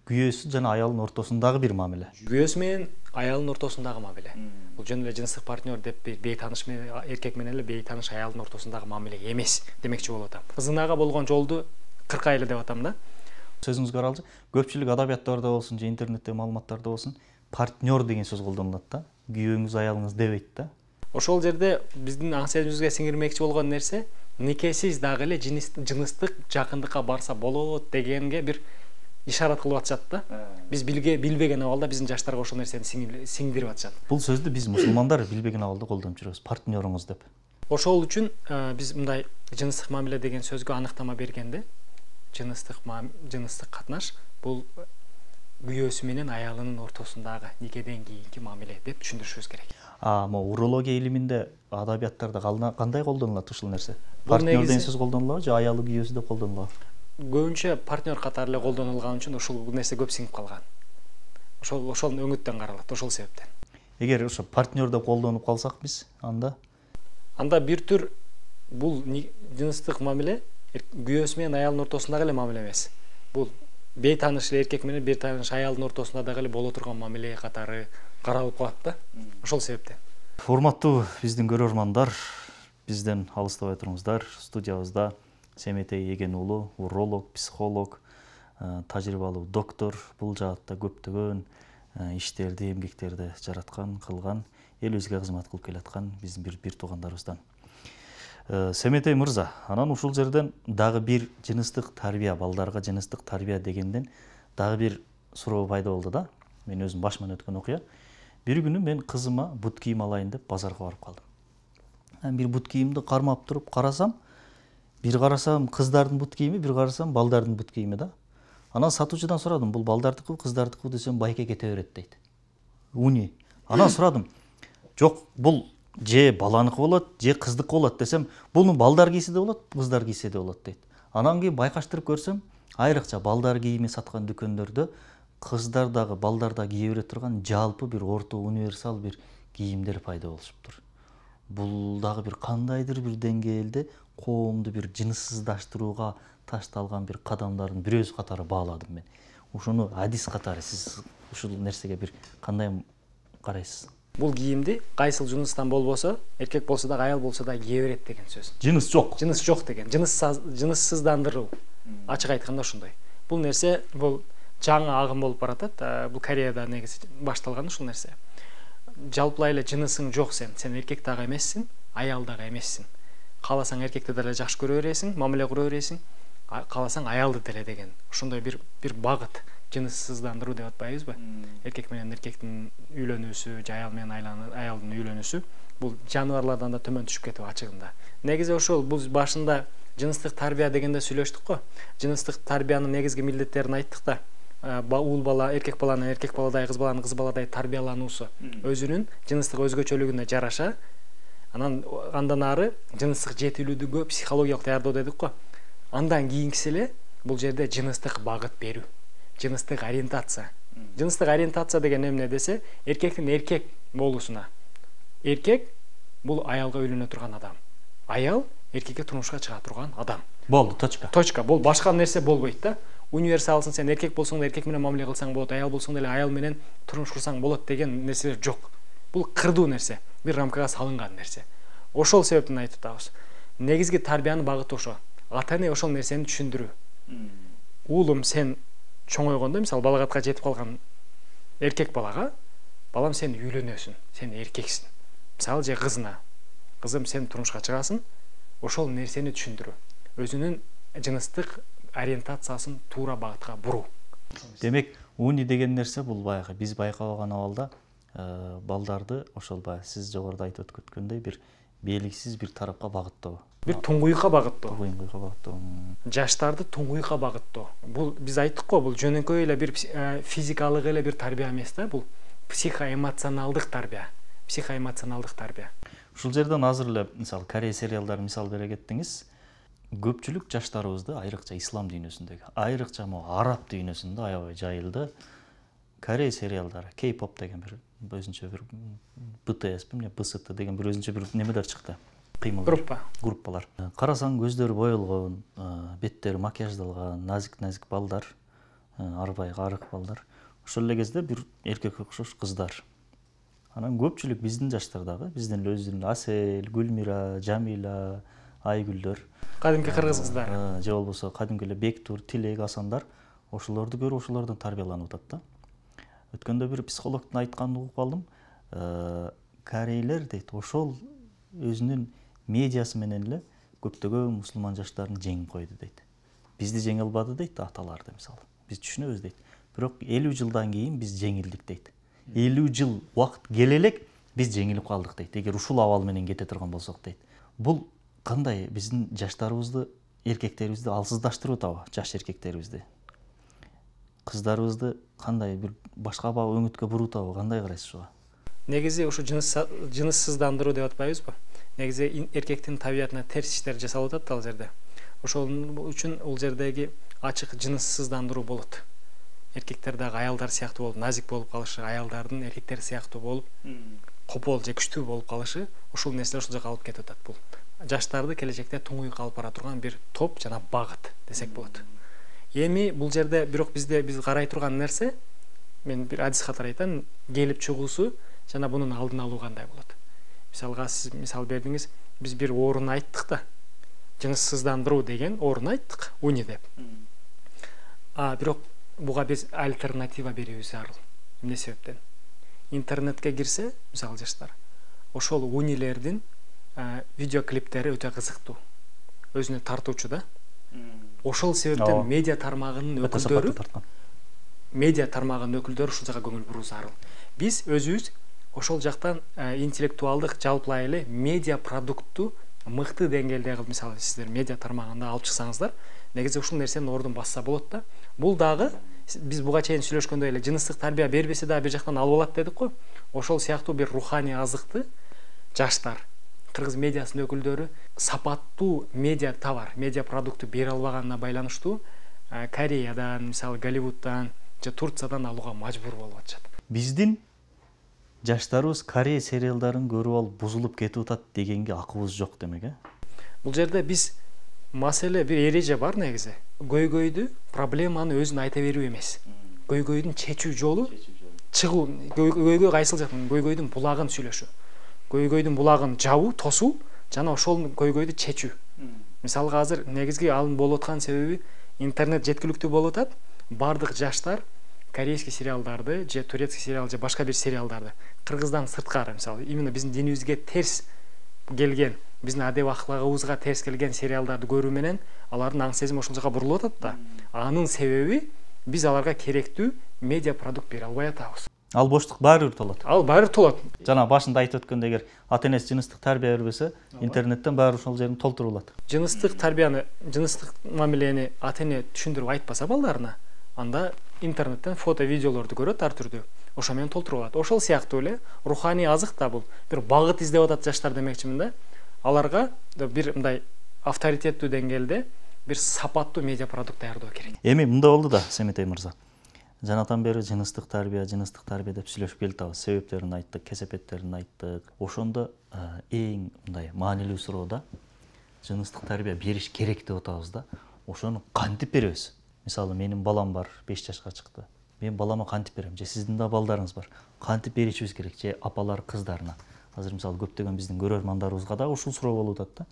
күйөөсү жана аялдын ортосундагы бир мамиле. Күйөөсү менен аялдын ортосундагы мамиле. Бул жөн эле жыныстык партнер деп бейтааныш менен эркек менен эле бейтааныш аялдын ортосундагы мамиле эмес демекчи болуп атам. Кызынага болгон жолду кыркайлы деп атам да. Сөзүңүзгө каралчы, көпчүлүк адабияттарда болсун же интернеттеги маалыматтарда болсун, партнер деген сөз колдонулат да. Күйөөңүз, аялыңыз дебейт да. Ошол жерде биздин аң сезимибизге сиңирмекчи болгон нерсе никесиз дагы эле жыныстык жакындыкка барса болот дегенге бир ишарат кылып атышат да. Биз билбеген абалда биздин жаштарга ошол нерсени сиңдирип атышат. Бул сөздү биз мусулмандар билбеген абалда колдонуп жүрөбүз, партнеруңуз деп. Ошол үчүн биз мындай жыныстык мамиле деген сөзгө аныктама бергенде жыныстык катнаш бул күйөөсү менен аялынын ортосундагы никеден кийинки мамиле деп түшүндүрүшүбүз керек. Могу урология илиминде, адабияттарда кандай колдонулат ушул нерсе? Партнер деген сөз колдонулабы же аялы күйөөсү деп колдонулабы? Көбүнчө партнер катары эле колдонулган үчүн ушул нерсе көп сиңип калган. Ошол өңүттөн каралат, ошол себептен. Эгер ошо партнер деп колдонуп калсак биз, анда бир түр бул жыныстык мамиле күйөөсү менен аялдын ортосундагы эле мамиле эмес. Бул бейтааныш эркек менен бейтааныш аялдын ортосунда дагы эле боло турган мамиле катары каралып калат да. Ошол себептен. Урматтуу биздин көрөрмандар, бизден алыстабай туруңуздар. Студиябызда Семетей Эген уулу, уролог, психолог, тажрыйбалуу доктор, бул жаатта көптөгөн иштерди, эмгектерди жараткан, кылган, элибизге кызмат кылып келаткан биздин бир туугандарыбыздан. Семетей мырза, анан ушул жерден дагы бир жыныстык тарбия, балдарга жыныстык тарбия дегенден дагы бир суроо пайда болду да. Мен өзүм башыман өткөн окуя. Бир күнү мен кызыма бут кийим алайын деп базарга барып калдым. Бир бут кийимди кармап туруп карасам, кыздардын бут кийими, бир карасам балдардын бут кийими да. Анан сатуучудан сурадым, бул балдардыкы, кыздардыкы десем, байке кете берет дейт. Уни. Анан сурадым. Жок, бул же баланыкы болот, же кыздыкы болот десем, буну балдар кийсе де болот, кыздар кийсе де болот дейт. Анан кийин байкаштырып көрсөм, айрыкча балдар кийими саткан дүкөндөрдө кыздар дагы балдар да кие бере турган жалпы бир орто универсал бир кийимдер пайда болушуптур. Бул дагы бир кандайдыр бир деңгээлде коомду бир жыныссыздаштырууга ташталган бир кадамдардын бирөөсү катары бааладым мен. Ушуну адис катары сиз ушул нерсеге бир кандай карайсыз? Бул кийимди кайсыл жыныстан болбосо, эркек болсо да, аял болсо да кие берет деген сөз. Жыныс жок. Жыныс жок деген. Жыныссыздандыруу. Ачык айтканда ошондой. Бул нерсе бул жаңы агым болуп баратат. Бул Кореяда негизи башталган ушул нерсе. Жалпылай эле жынысың жок сен эркек дагы эмессиң, аял дагы эмессиң. Кааласаң эркекти деле жакшы көрө бересиң, мамиле кура бересиң, кааласаң аялды деле деген. Ошондой бир багыт. Жыныссыздандыруу деп атпайбызбы? Эркек менен эркектин үйлөнүүсү, же аял менен аялдын үйлөнүүсү бул жаныбарлардан да төмөн түшүп кетип ачыгында. Негизи ошол бул башында жыныстык тарбия дегенде сүйлөштүк го. Жыныстык тарбиянын негизги милдеттерин айттык да. Уул бала эркек баланы эркек баладай, кыз баланы кыз баладай тарбиялануусу өзүнүн жыныстык өзгөчөлүгүнө жараша, андан ары жыныстык жетилүүдүгө психологиялык даярдоо дедик го. Андан кийинкиси эле бул жерде жыныстык багыт берүү, жыныстык ориентация. Жыныстык ориентация деген эмне десе, эркектин эркек болуусуна. Эркек бул аялга үйлөнө турган адам. Аял эркекке турмушка чыга турган адам. Болду, точка. Точка. Бул башка нерсе болбойт да. Универсалсың, сен эркек болсоң да эркек менен мамиле кылсаң болот, аял болсоң деле аял менен турмуш курсаң болот деген нерселер жок. Бул кырдуу нерсе, бир рамкага салынган нерсе. Ошол себептен айтып атабыз. Негизги тарбиянын багыты ошо. Ата-эне ошол нерсени түшүндүрүү. Уулум, сен чоңойгондо, мисалы балагатка жетип калган эркек балага, балам сен үйлөнөсүң, сен эркексиң. Мисалы же кызына, кызым сен турмушка чыгасың, ошол нерсени түшүндүрүү. Өзүнүн жыныстык ориентациясын туура багытка буруу. Демек, уни деген нерсе бул баягы биз байкабаган абалда балдарды ошол баягы сиз жогоруда айтып өткөндөй бир белгисиз бир тарапка багыттоо. Бир туңгуйка багыттоо. Туңгуйка багыттоо. Жаштарды туңгуйка багыттоо. Бул биз айттык го, бул жөнөкөй эле бир физикалык эле бир тарбия эмес да, бул психоэмоционалдык тарбия. Психоэмоционалдык тарбия. Ушул жерден азыр эле мисалы Корея сериалдарын мисал бере кеттиңиз. Көпчүлүк жаштарыбызды айрыкча ислам дүйнөсүндөгү, айрыкча араб дүйнөсүндө аябай жайылды. Корея сериалдары, K-pop деген бир өзүнчө бир BTS, BST деген бир өзүнчө бир немелер чыкты. Кыймылдар, группалар. Карасаң көздөрү боелгон, беттери макияждалган, назик балдар, арбай арык балдар. Ошол эле кезде бир эркекке окшош кыздар. Анан көпчүлүк биздин жаштардагы, биздин өзүнүн Асел, Гүлмира, Жамила, Айгүлдөр, кадимки кыргыз кыздары, же болбосо кадимки эле Бектур, Тилек, Асандар ошолорду көрүп ошолордон тарбияланып атат да. Өткөндө бир психологдун айтканын угуп калдым. Корейлер дейт, ошол өзүнүн медиасы менен эле көптөгөн мусулман жаштарын жеңип койду дейт. Бизди жеңе албады дейт аталарды мисалы. Биз түшүнөбүз дейт. Бирок 50 жылдан кийин биз жеңилдик дейт. 50 жыл убакыт келе элек биз жеңилип калдык дейт. Эгер ушул абал менен кете турган болсок дейт. Бул кандай биздин жаштарыбызды, эркектерибизди алсыздаштырып атабы, жаш эркектерибизди? Кыздарыбызды кандай бир башка өңүткө буруп атабы, кандай карайсыз ушуга? Негизи ушу жыныссыздандыруу деп атпайбызбы? Негизи эркектин табиятына терс иштер жасалып атат ал жерде. Ошол үчүн бул жердеги ачык жыныссыздандыруу болот. Эркектер дагы аялдар сыяктуу болуп, назик болуп калышы, аялдардын эркектер сыяктуу болуп, копол же күчтүү болуп калышы, ушул нерселер ушул жака алып кетип атат. Бул жаштарды келечекте туңгуйга алып бара турган бир топ жана багыт десек болот. Эми бул жерде бирок биз карай турган нерсе, мен бир адис катары айтам, келип чыгуусу жана бунун алдын алуу кандай болот. Мисалга сиз мисал бердиңиз, биз бир орун айттык да. Жыныссыздандыруу деген орун айттык, уни деп. Бирок буга биз альтернатива берүүбүз зарыл. Эмне себептен? Интернетке кирсе, мисалы жаштар, ошол унилердин видеоклиптери өтө кызыктуу. Өзүнө тартуучу да. Ошол себептен медиа тармагынын өкүлдөрү ушул жака көңүл буруу зарыл. Биз өзүбүз ошол жактан интеллектуалдык жалпылай эле медиа продуктту мыкты деңгээлде кылып, мисалы сиздер медиа тармагында алып чыксаңыздар, негизи ушул нерсени ордун басса болот да. Бул дагы биз буга чейин сүйлөшкөндөй эле жыныстык тарбия бербесе дагы бир жактан алып алат дедик го. Ошол сыяктуу бир руханий азыкты жаштар, кыргыз медиасынын өкүлдөрү сапаттуу медиа товар, медиа продукту бере албаганына байланыштуу Кореядан, мисалы Голливудтан же Турциядан алууга мажбур болуп атышат. Биздин жаштарыбыз Корея сериалдарын көрүп алып бузулуп кетип атат дегенге акыбыз жок демек, Бул жерде биз маселе бир эреже бар негизи. Көйгөйдү, проблеманы өзүн айта берүү эмес. Көйгөйдүн чечүү жолу чыгуу. Көйгөй кайсыл жактан? Көйгөйдүн булагын сүйлөшүү. Көйгөйдүн булагын жабуу, тосуу жана ошол көйгөйдү чечүү. Мисалга азыр негизги алын болуп аткан себеби интернет жеткиликтүү болуп атат. Бардык жаштар корейский сериалдарды же турецкий сериал же башка бир сериалдарды кыргыздан сырткары, мисалы именно биздин динибизге терс келген, биздин адеп аклагыбызга терс келген сериалдарды көрүү менен алардын аң сезими ошол жака бурулуп атат да. Анын себеби биз аларга керектүү медиа продукт бере албай атабыз. Ал боштук баары бир толот. Ал баары толот. Жана башында айтып өткөндөй, эгер ата-энеси жыныстык тарбия бербесе, интернеттен баары ошол жерин толтурулат. Жыныстык тарбияны, жыныстык мамилени ата-эне түшүндүрүп айтпаса балдарына, анда интернеттен фото, видеолорду көрөт ар түрдүү. Ошо менен толтурулат. Ошол сыяктуу эле руханий азык да бул. Бир багыт издеп атат жаштар демекчимин да. Аларга бир мындай авторитеттүү деңгээлде бир сапаттуу медиа продукт даярдоо керек. Эми мындай болду да, Семетей мырза. Жанатан бери жыныстык тарбия деп сүйлөшүп келатабыз. Себептерин айттык, кесепеттерин айттык. Ошондо эң мындай маанилүү суроо да, жыныстык тарбия бериш керек деп атабыз да. Ошону кантип беребиз? Мисалы, менин балам бар, 5 жашка чыкты. Мен балама кантип берем? Же сиздин да балдарыңыз бар. Кантип беришибиз керек? Же апалар кыздарына? Азыр мисалы көптөгөн биздин көрөрмандарыбызга да ушул суроо болуп атат да.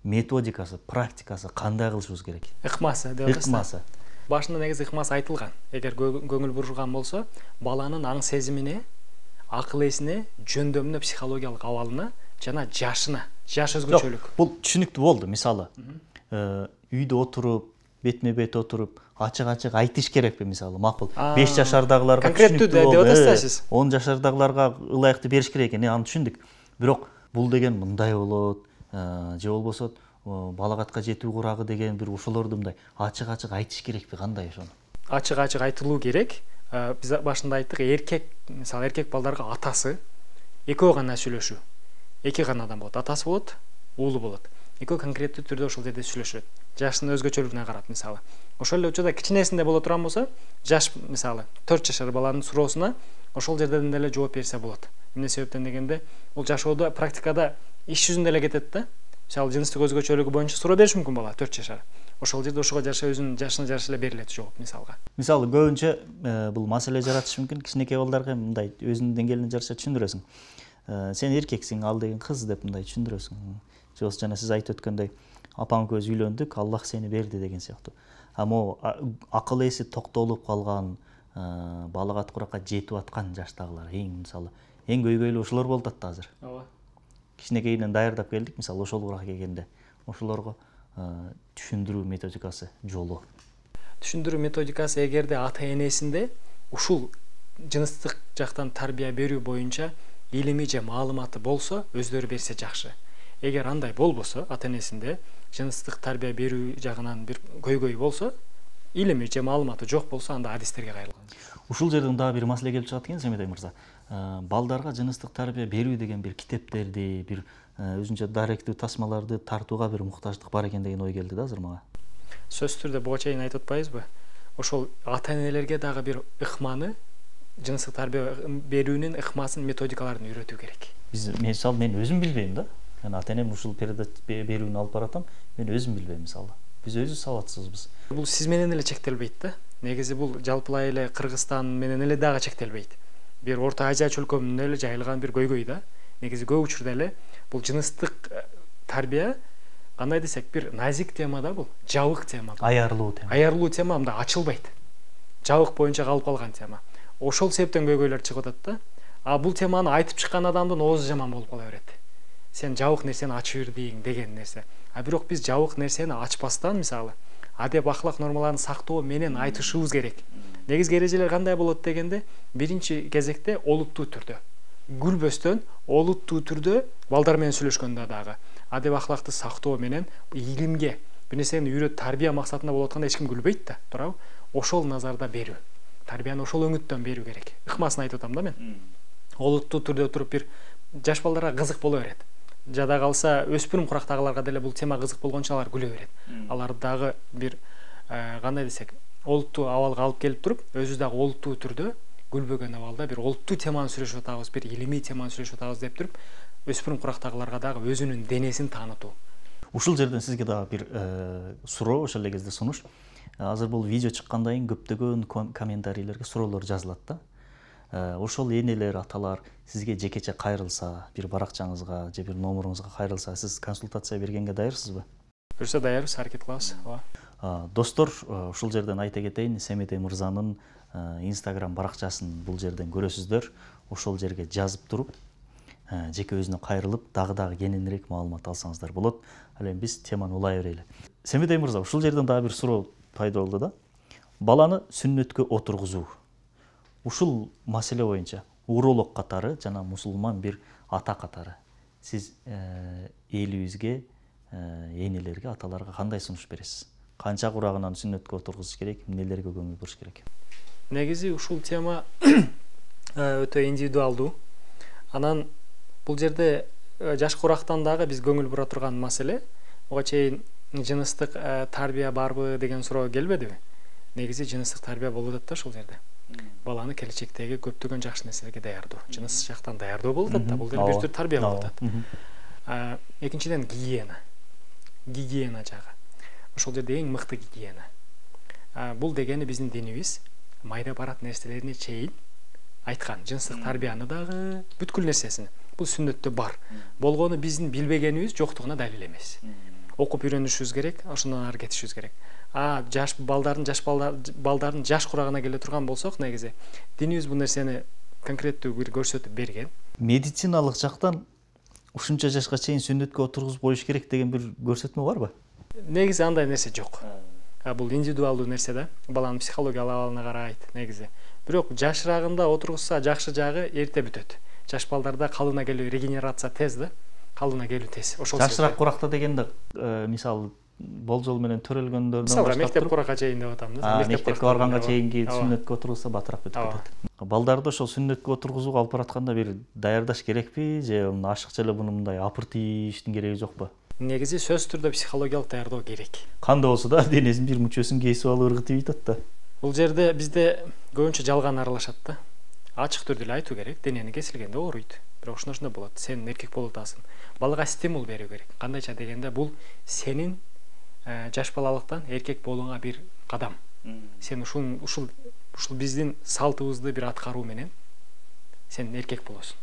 Методикасы, практикасы кандай кылышыбыз керек? Ыкмасы деп атасыз. Ыкмасы. Башында негизи ыкмасы айтылган. Эгер көңүл бурушкан болсо, баланын аң сезимине, акыл эсине, жөндөмүнө, психологиялык абалына жана жашына, жаш өзгөчөлүк. Бул түшүнүктүү болду. Мисалы, үйдө отуруп, бетме бет отуруп, ачык айтыш керекпи, мисалы, макул. 5 жашардагыларга түшүнүктүү деп атасыз. 10 жашардагыларга ылайыктуу бериш керек экен, аны түшүндүк. Бирок бул деген мындай болот, же болбосо балагатка жетүү курагы деген бир ошолорду мындай ачык айтыш керекпи, кандай ошону? Ачык айтылуу керек. Биз башында айттык, эркек, мисалы, эркек балдарга атасы экөө гана сүйлөшүү. Эки гана адам болот, атасы болот, уулу болот. Экөө конкреттүү түрдө ошол жерде сүйлөшөт. Жашынын өзгөчөлүгүнө карап, мисалы. Ошол эле учурда кичинесинде боло турган болсо, жаш, мисалы, 4 жашар баланын суроосуна ошол жерден деле жооп берсе болот. Эмне себептен дегенде, бул жашоодо практикада иш жүзүндө эле кетет да. Мисалы, жыныстык өзгөчөлүгү боюнча суроо бериш мүмкүн бала 4 жашар. Ошол жерде ошого жараша өзүнүн жашына жараша эле берилет жооп, мисалга. Мисалы, көбүнчө бул маселе жаратышы мүмкүн. Кичинекей балдарга мындай өзүнүн деңгээлине жараша түшүндүрөсүң. Сен эркексиң, ал деген кыз деп мындай түшүндүрөсүң. Же жана сиз айтып өткөндөй, апаң көз үйлөндүк, Аллах сени берди деген сыяктуу. Могу акыл эси токтолуп калган, балагат куракка жетип аткан жаштагылар мисалы эң көйгөйлүү ошолор болуп атат азыр. Ооба. Кичинекейинен даярдап келдик, мисалы ошол куракка келгенде ошолорго түшүндүрүү методикасы жолу. Түшүндүрүү методикасы эгерде ата-энесинде ушул жыныстык жактан тарбия берүү боюнча илими же маалыматы болсо, өздөрү берсе жакшы. Эгер андай болбосо, ата-энесинде жыныстык тарбия берүү жагынан бир көйгөй болсо, илими же маалыматы жок болсо, анда адистерге кайрылган. Ушул жерден дагы бир маселе келип чыгат экен, Семетей мырза. Балдарга жыныстык тарбия берүү деген бир китептерди, бир өзүнчө даректүү тасмаларды тартууга бир муктаждык бар экен деген ой келди да азыр мага. Сөзсүз түрдө буга чейин айтып атпайбызбы? Ошол ата-энелерге дагы бир ыкманы, жыныстык тарбия берүүнүн ыкмасын, методикаларын үйрөтүү керек. Мен өзүм билбейм да. Мен ата-энем ушул берүүнү алып баратам, мен өзүм билбейм мисалы. Биз өзү сабатсызбыз. Бул сиз менен эле чектелбейт да. Негизи бул жалпылай эле Кыргызстан менен эле дагы чектелбейт. Бир Орто Азия чөлкөмүнөн эле жайылган бир көйгөй да. Негизи көп учурда эле бул жыныстык тарбия кандай десек бир назик тема да, бул жабык тема. Аярлуу тема. Аярлуу тема мындай ачылбайт. Жабык боюнча калып калган тема. Ошол себептен көйгөйлөр чыгып атат да. А бул теманы айтып чыккан адамдын оозу жаман болуп кала берет. Сен жабык нерсени ачып бирдиң деген нерсе. А бирок биз жабык нерсени ачпастан, мисалы, адеп ахлак нормаларын сактоо менен айтышыбыз керек. Негизги эрежелер кандай болот дегенде, биринчи кезекте олуттуу түрдө, күлбөстөн олуттуу түрдө балдар менен сүйлөшкөндө дагы адеп ахлакты сактоо менен илимге бир нерсени үйрөт, тарбия максатында болуп атканда эч ким күлбөйт да, туурабы? Ошол назарда берүү. Тарбияны ошол өңүттөн берүү керек. Ыкмасын айтып атам да мен. Олуттуу түрдө туруп бир жаш балдарга кызык боло берет. Жада калса өспүрүм курактагыларга деле бул тема кызык болгончо алар күлө берет. Алар дагы бир кандай десек, олуттуу абалга алып келип туруп, өзүбүз дагы олуттуу түрдө күлбөгөн абалда бир олуттуу теманы сүйлөшүп атабыз, бир илимий теманы сүйлөшүп атабыз деп туруп, өспүрүм курактагыларга дагы өзүнүн денесин таанытуу. Ушул жерден сизге дагы бир суроо, ошол эле кезде сунуш. Азыр бул видео чыккандан кийин көптөгөн комментарийлерге суроолор жазылат да. Ошол энелер, аталар сизге жекече кайрылса, бир баракчаңызга же бир номеруңузга кайрылса, сиз консультация бергенге даярсызбы? Буюрса даярбыз, аракет кылабыз. Ооба. Достор, ушул жерден айта кетейин, Семетей мырзанын Instagram баракчасын бул жерден көрөсүздөр. Ошол жерге жазып туруп, жеке өзүнө кайрылып, дагы кененирээк маалымат алсаңыздар болот. Ал эми биз теманы улай берели. Семетей мырза, ушул жерден дагы бир суроо пайда болду да. Баланы сүннөткө отургузуу. Ушул маселе боюнча уролог катары жана мусулман бир ата катары сиз элибизге, энелерге, аталарга кандай сунуш бересиз? Канча курагынан сүннөткө отургузуш керек, эмнелерге көңүл буруш керек? Негизи ушул тема өтө индивидуалдуу. Анан бул жерде жаш курактан дагы биз көңүл бура турган маселе, буга чейин жыныстык тарбия барбы деген суроо келбедиби? Негизи жыныстык тарбия болуп атат да ушул жерде. Баланы келечектеги көптөгөн жакшы нерселерге даярдоо, жыныс жактан даярдоо болуп атат да, бул деле бир түр тарбия болуп атат. Экинчиден гигиена жагы. Ошол жерде эң мыкты гигиена. Бул дегени биздин динибиз майда барат нерселерине чейин айткан. Жыныстык тарбияны дагы бүткүл нерсесин. Бул сүннөттө бар. Болгону биздин билбегенибиз жоктугуна далил эмес. Окуп үйрөнүшүбүз керек, ошондон ары кетишибиз керек. Жаш балдардын жаш курагына келе турган болсок, негизи динибиз бул нерсени конкреттүү бир көрсөтүп берген. Медициналык жактан ушунча жашка чейин сүннөткө отургузуп коюш керек деген бир көрсөтмө барбы? Негизи андай нерсе жок. Бул индивидуалдуу нерсе да, баланын психологиялык абалына карайт негизи. Бирок жашырагында отургузса жакшы жагы эрте бүтөт. Жаш балдарда калыбына келүү, регенерация тез да, калыбына келүү тез. Ошол жашыраак куракта дегенде мисалы болжол менен төрөлгөндөрдөн баштап мектеп куракка чейин деп атам да. Мектепке барганга чейинки сүннөткө отургузса батыраак бүтүп кетет. Балдарды ошол сүннөткө отургузууга алып баратканда бир даярдаш керекпи же ашыкча эле муну мындай апыртиштин кереги жокпу? Негизи сөзсүз түрдө психологиялык даярдоо керек. Кандай болсо да денесинин бир мүчөсүн кесип алып ыргытып ийт да. Бул жерде бизде көбүнчө жалган аралашат да. Ачык түрдө эле айтуу керек, денени кесилгенде ооруйт. Бирок ошондой болот. Сен эркек болуп атасың. Балага стимул берүү керек. Кандайча дегенде бул сенин жаш балалыктан эркек болууңа бир кадам. Сен ушул биздин салтыбызды бир аткаруу менен сен эркек болосуң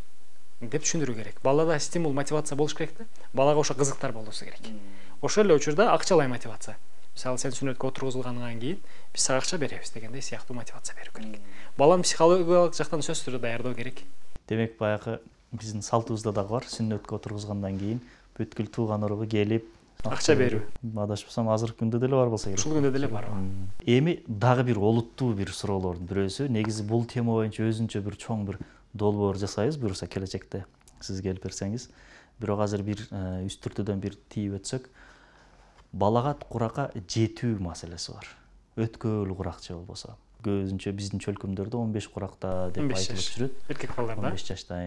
деп түшүндүрүү керек. Балада стимул, мотивация болуш керек да. Балага ошо кызыктар болуусу керек. Ошол эле учурда акчалай мотивация. Мисалы сен сүннөткө отургузулгандан кийин биз сага акча беребиз дегендей сыяктуу мотивация берүү керек. Баланы психологиялык жактан сөзсүз түрдө даярдоо керек. Демек баягы биздин салтыбызда дагы бар, сүннөткө отургузгандан кийин бүткүл тууган уруугу келип акча берүү. Адашпасам азыркы күндө деле бар болсо керек. Ушул күндө деле бар. Эми дагы бир олуттуу бир суроолордун бирөөсү, негизи бул тема боюнча өзүнчө бир чоң бир долбоор жасайбыз буюрса келечекте сиз келип берсеңиз. Бирок азыр бир үстүртүдөн бир тийип өтсөк, балагат куракка жетүү маселеси бар. Өткөл курак же болбосо. Көбүнчө биздин чөлкөмдөрдө 15 куракта деп айтылып жүрөт. Эркек балдарда 15 жашта.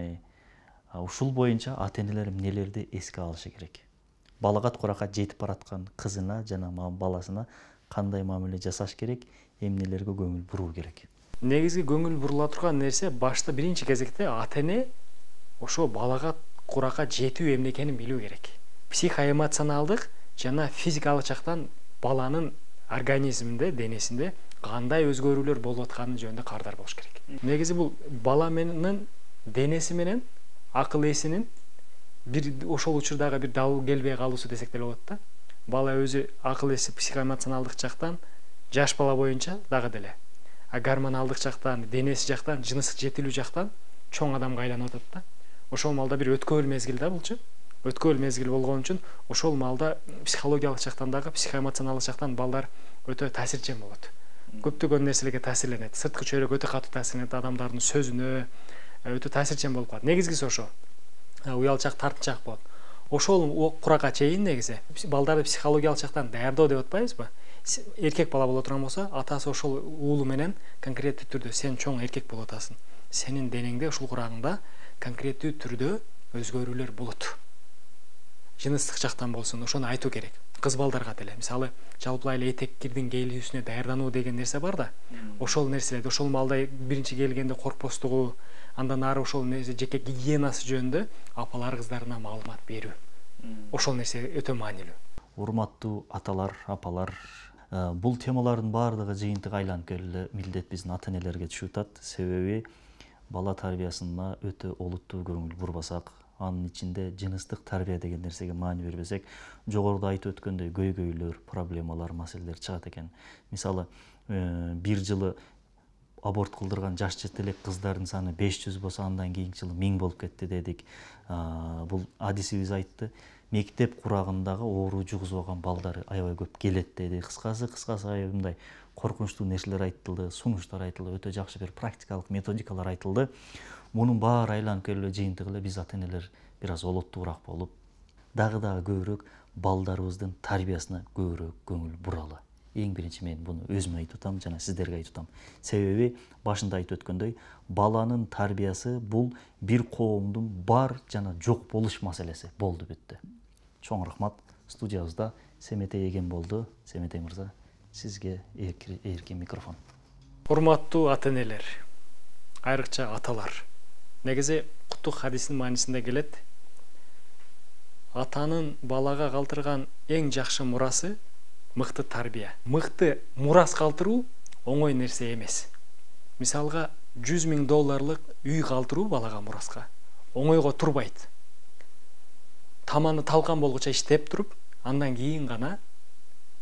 Ушул боюнча ата-энелер эмнелерди эске алышы керек? Балагат куракка жетип бараткан кызына жана баласына кандай мамиле жасаш керек, эмнелерге көңүл буруу керек? Негизги көңүл бурула турган нерсе башта биринчи кезекте ата-эне ошо балагат куракка жетүү эмне экенин билүү керек. Психоэмоционалдык жана физикалык жактан баланын организминде, денесинде кандай өзгөрүүлөр болуп атканы жөнүндө кабардар болуш керек. Негизи бул бала менен денеси менен акыл эсинин бир ошол учурдагы бир дал келбей калуусу десек деле болот да. Бала өзү акыл эси психоэмоционалдык жактан жаш бала боюнча дагы деле гормоналдык жактан, денеси жактан, жыныстык жетилүү жактан чоң адамга айланып атат да. Ошол малда бир өткөөл мезгил да булчу. Өткөөл мезгил болгон үчүн ошол малда психологиялык жактан дагы, психоэмоционалдык жактан балдар өтө таасирчен болот. Көптөгөн нерселерге таасирленет. Сырткы чөйрөк өтө катуу таасирленет, адамдардын сөзүнө өтө таасирчен болуп калат. Негизгиси ошо. Уялчак, тартынчаак болот. Ошол куракка чейин негизи балдарды психологиялык жактан даярдоо деп атпайбызбы? Эркек бала боло турган болсо, атасы ошол уулу менен конкреттүү түрдө сен чоң эркек болуп атасың. Сенин денеңде ушул курагыңда конкреттүү түрдө өзгөрүүлөр болот. Жыныстык жактан болсун, ошону айтуу керек. Кыз балдарга деле, мисалы, жалпылай эле этеккирдин кийилүүсүнө даярдануу деген нерсе бар да. Ошол нерселерди, ошол маалда биринчи келгенде коркпостугу, андан ары ошол нерсе жеке гигиенасы жөнүндө апалар кыздарына маалымат берүү. Ошол нерсе өтө маанилүү. Урматтуу аталар, апалар, бул темалардын баардыгы жыйынтык айланып келе милдет биздин ата-энелерге түшүп атат. Себеби бала тарбиясына өтө олуттуу көңүл бурбасак, анын ичинде жыныстык тарбия деген нерсеге маани бербесек, жогоруда айтып өткөндөй көйгөйлөр, проблемалар, маселелер чыгат экен. Мисалы, бир жылы аборт кылдырган жаш жетелек кыздардын саны 500 болсо, андан кийинки жылы 1000 болуп кетти дедик. Бул адисибиз айтты. Мектеп курагындагы оору жугузуп алган балдар аябай көп келет деди. Кыскасы мындай коркунучтуу нерселер айтылды, сунуштар айтылды, өтө жакшы бир практикалык методикалар айтылды. Мунун баары айланып келип жыйынтыгы эле биз ата-энелер бир аз олуттуураак болуп, дагы көбүрөөк балдарыбыздын тарбиясына көбүрөөк көңүл буралы. Эң биринчи мен буну өзүмө айтып атам жана сиздерге айтып атам. Себеби башында айтып өткөндөй, баланын тарбиясы бул бир коомдун бар жана жок болуш маселеси болду бүттү. Чоң рахмат. Студиябызда Семетей эген болду. Семетей мырза, сизге эркин микрофон. Урматтуу ата-энелер, айрыкча аталар. Негизи Куттук хадистин маанисинде келет. Атанын балага калтырган эң жакшы мурасы мыкты тарбия. Мыкты мурас калтыруу оңой нерсе эмес. Мисалга, $100,000 үй калтыруу балага мураска оңойго турбайт. Таманы талкан болгуча иштеп туруп, андан кийин гана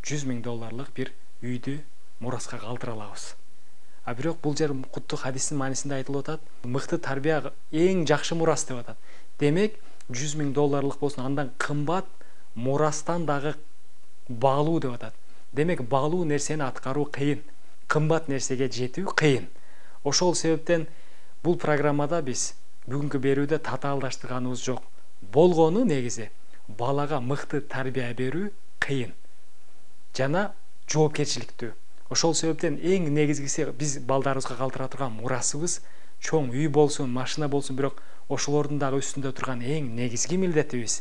$100,000 бир үйдү мураска калтыра алабыз. А бирок бул жер Куттук хадистин маанисинде айтылып атат, мыкты тарбия эң жакшы мурас деп атат. Демек, $100,000 болсун, андан кымбат мурастан дагы баалуу деп атат. Демек, баалуу нерсени аткаруу кыйын, кымбат нерсеге жетүү кыйын. Ошол себептен бул программада биз бүгүнкү берүүдө татаалдаштырганыбыз жок. Болгону негизи балага мыкты тарбия берүү кыйын жана жоопкерчиликтүү. Ошол себептен эң негизгиси биз балдарыбызга калтыра турган мурасыбыз чоң үй болсун, машина болсун, бирок ошолордун дагы үстүндө турган эң негизги милдетибиз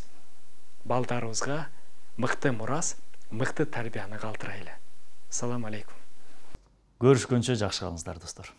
балдарыбызга мыкты мурас, мыкты тарбияны калтырайлы. Салам алейкум. Көрүшкөнчө жакшы калыңыздар, достор.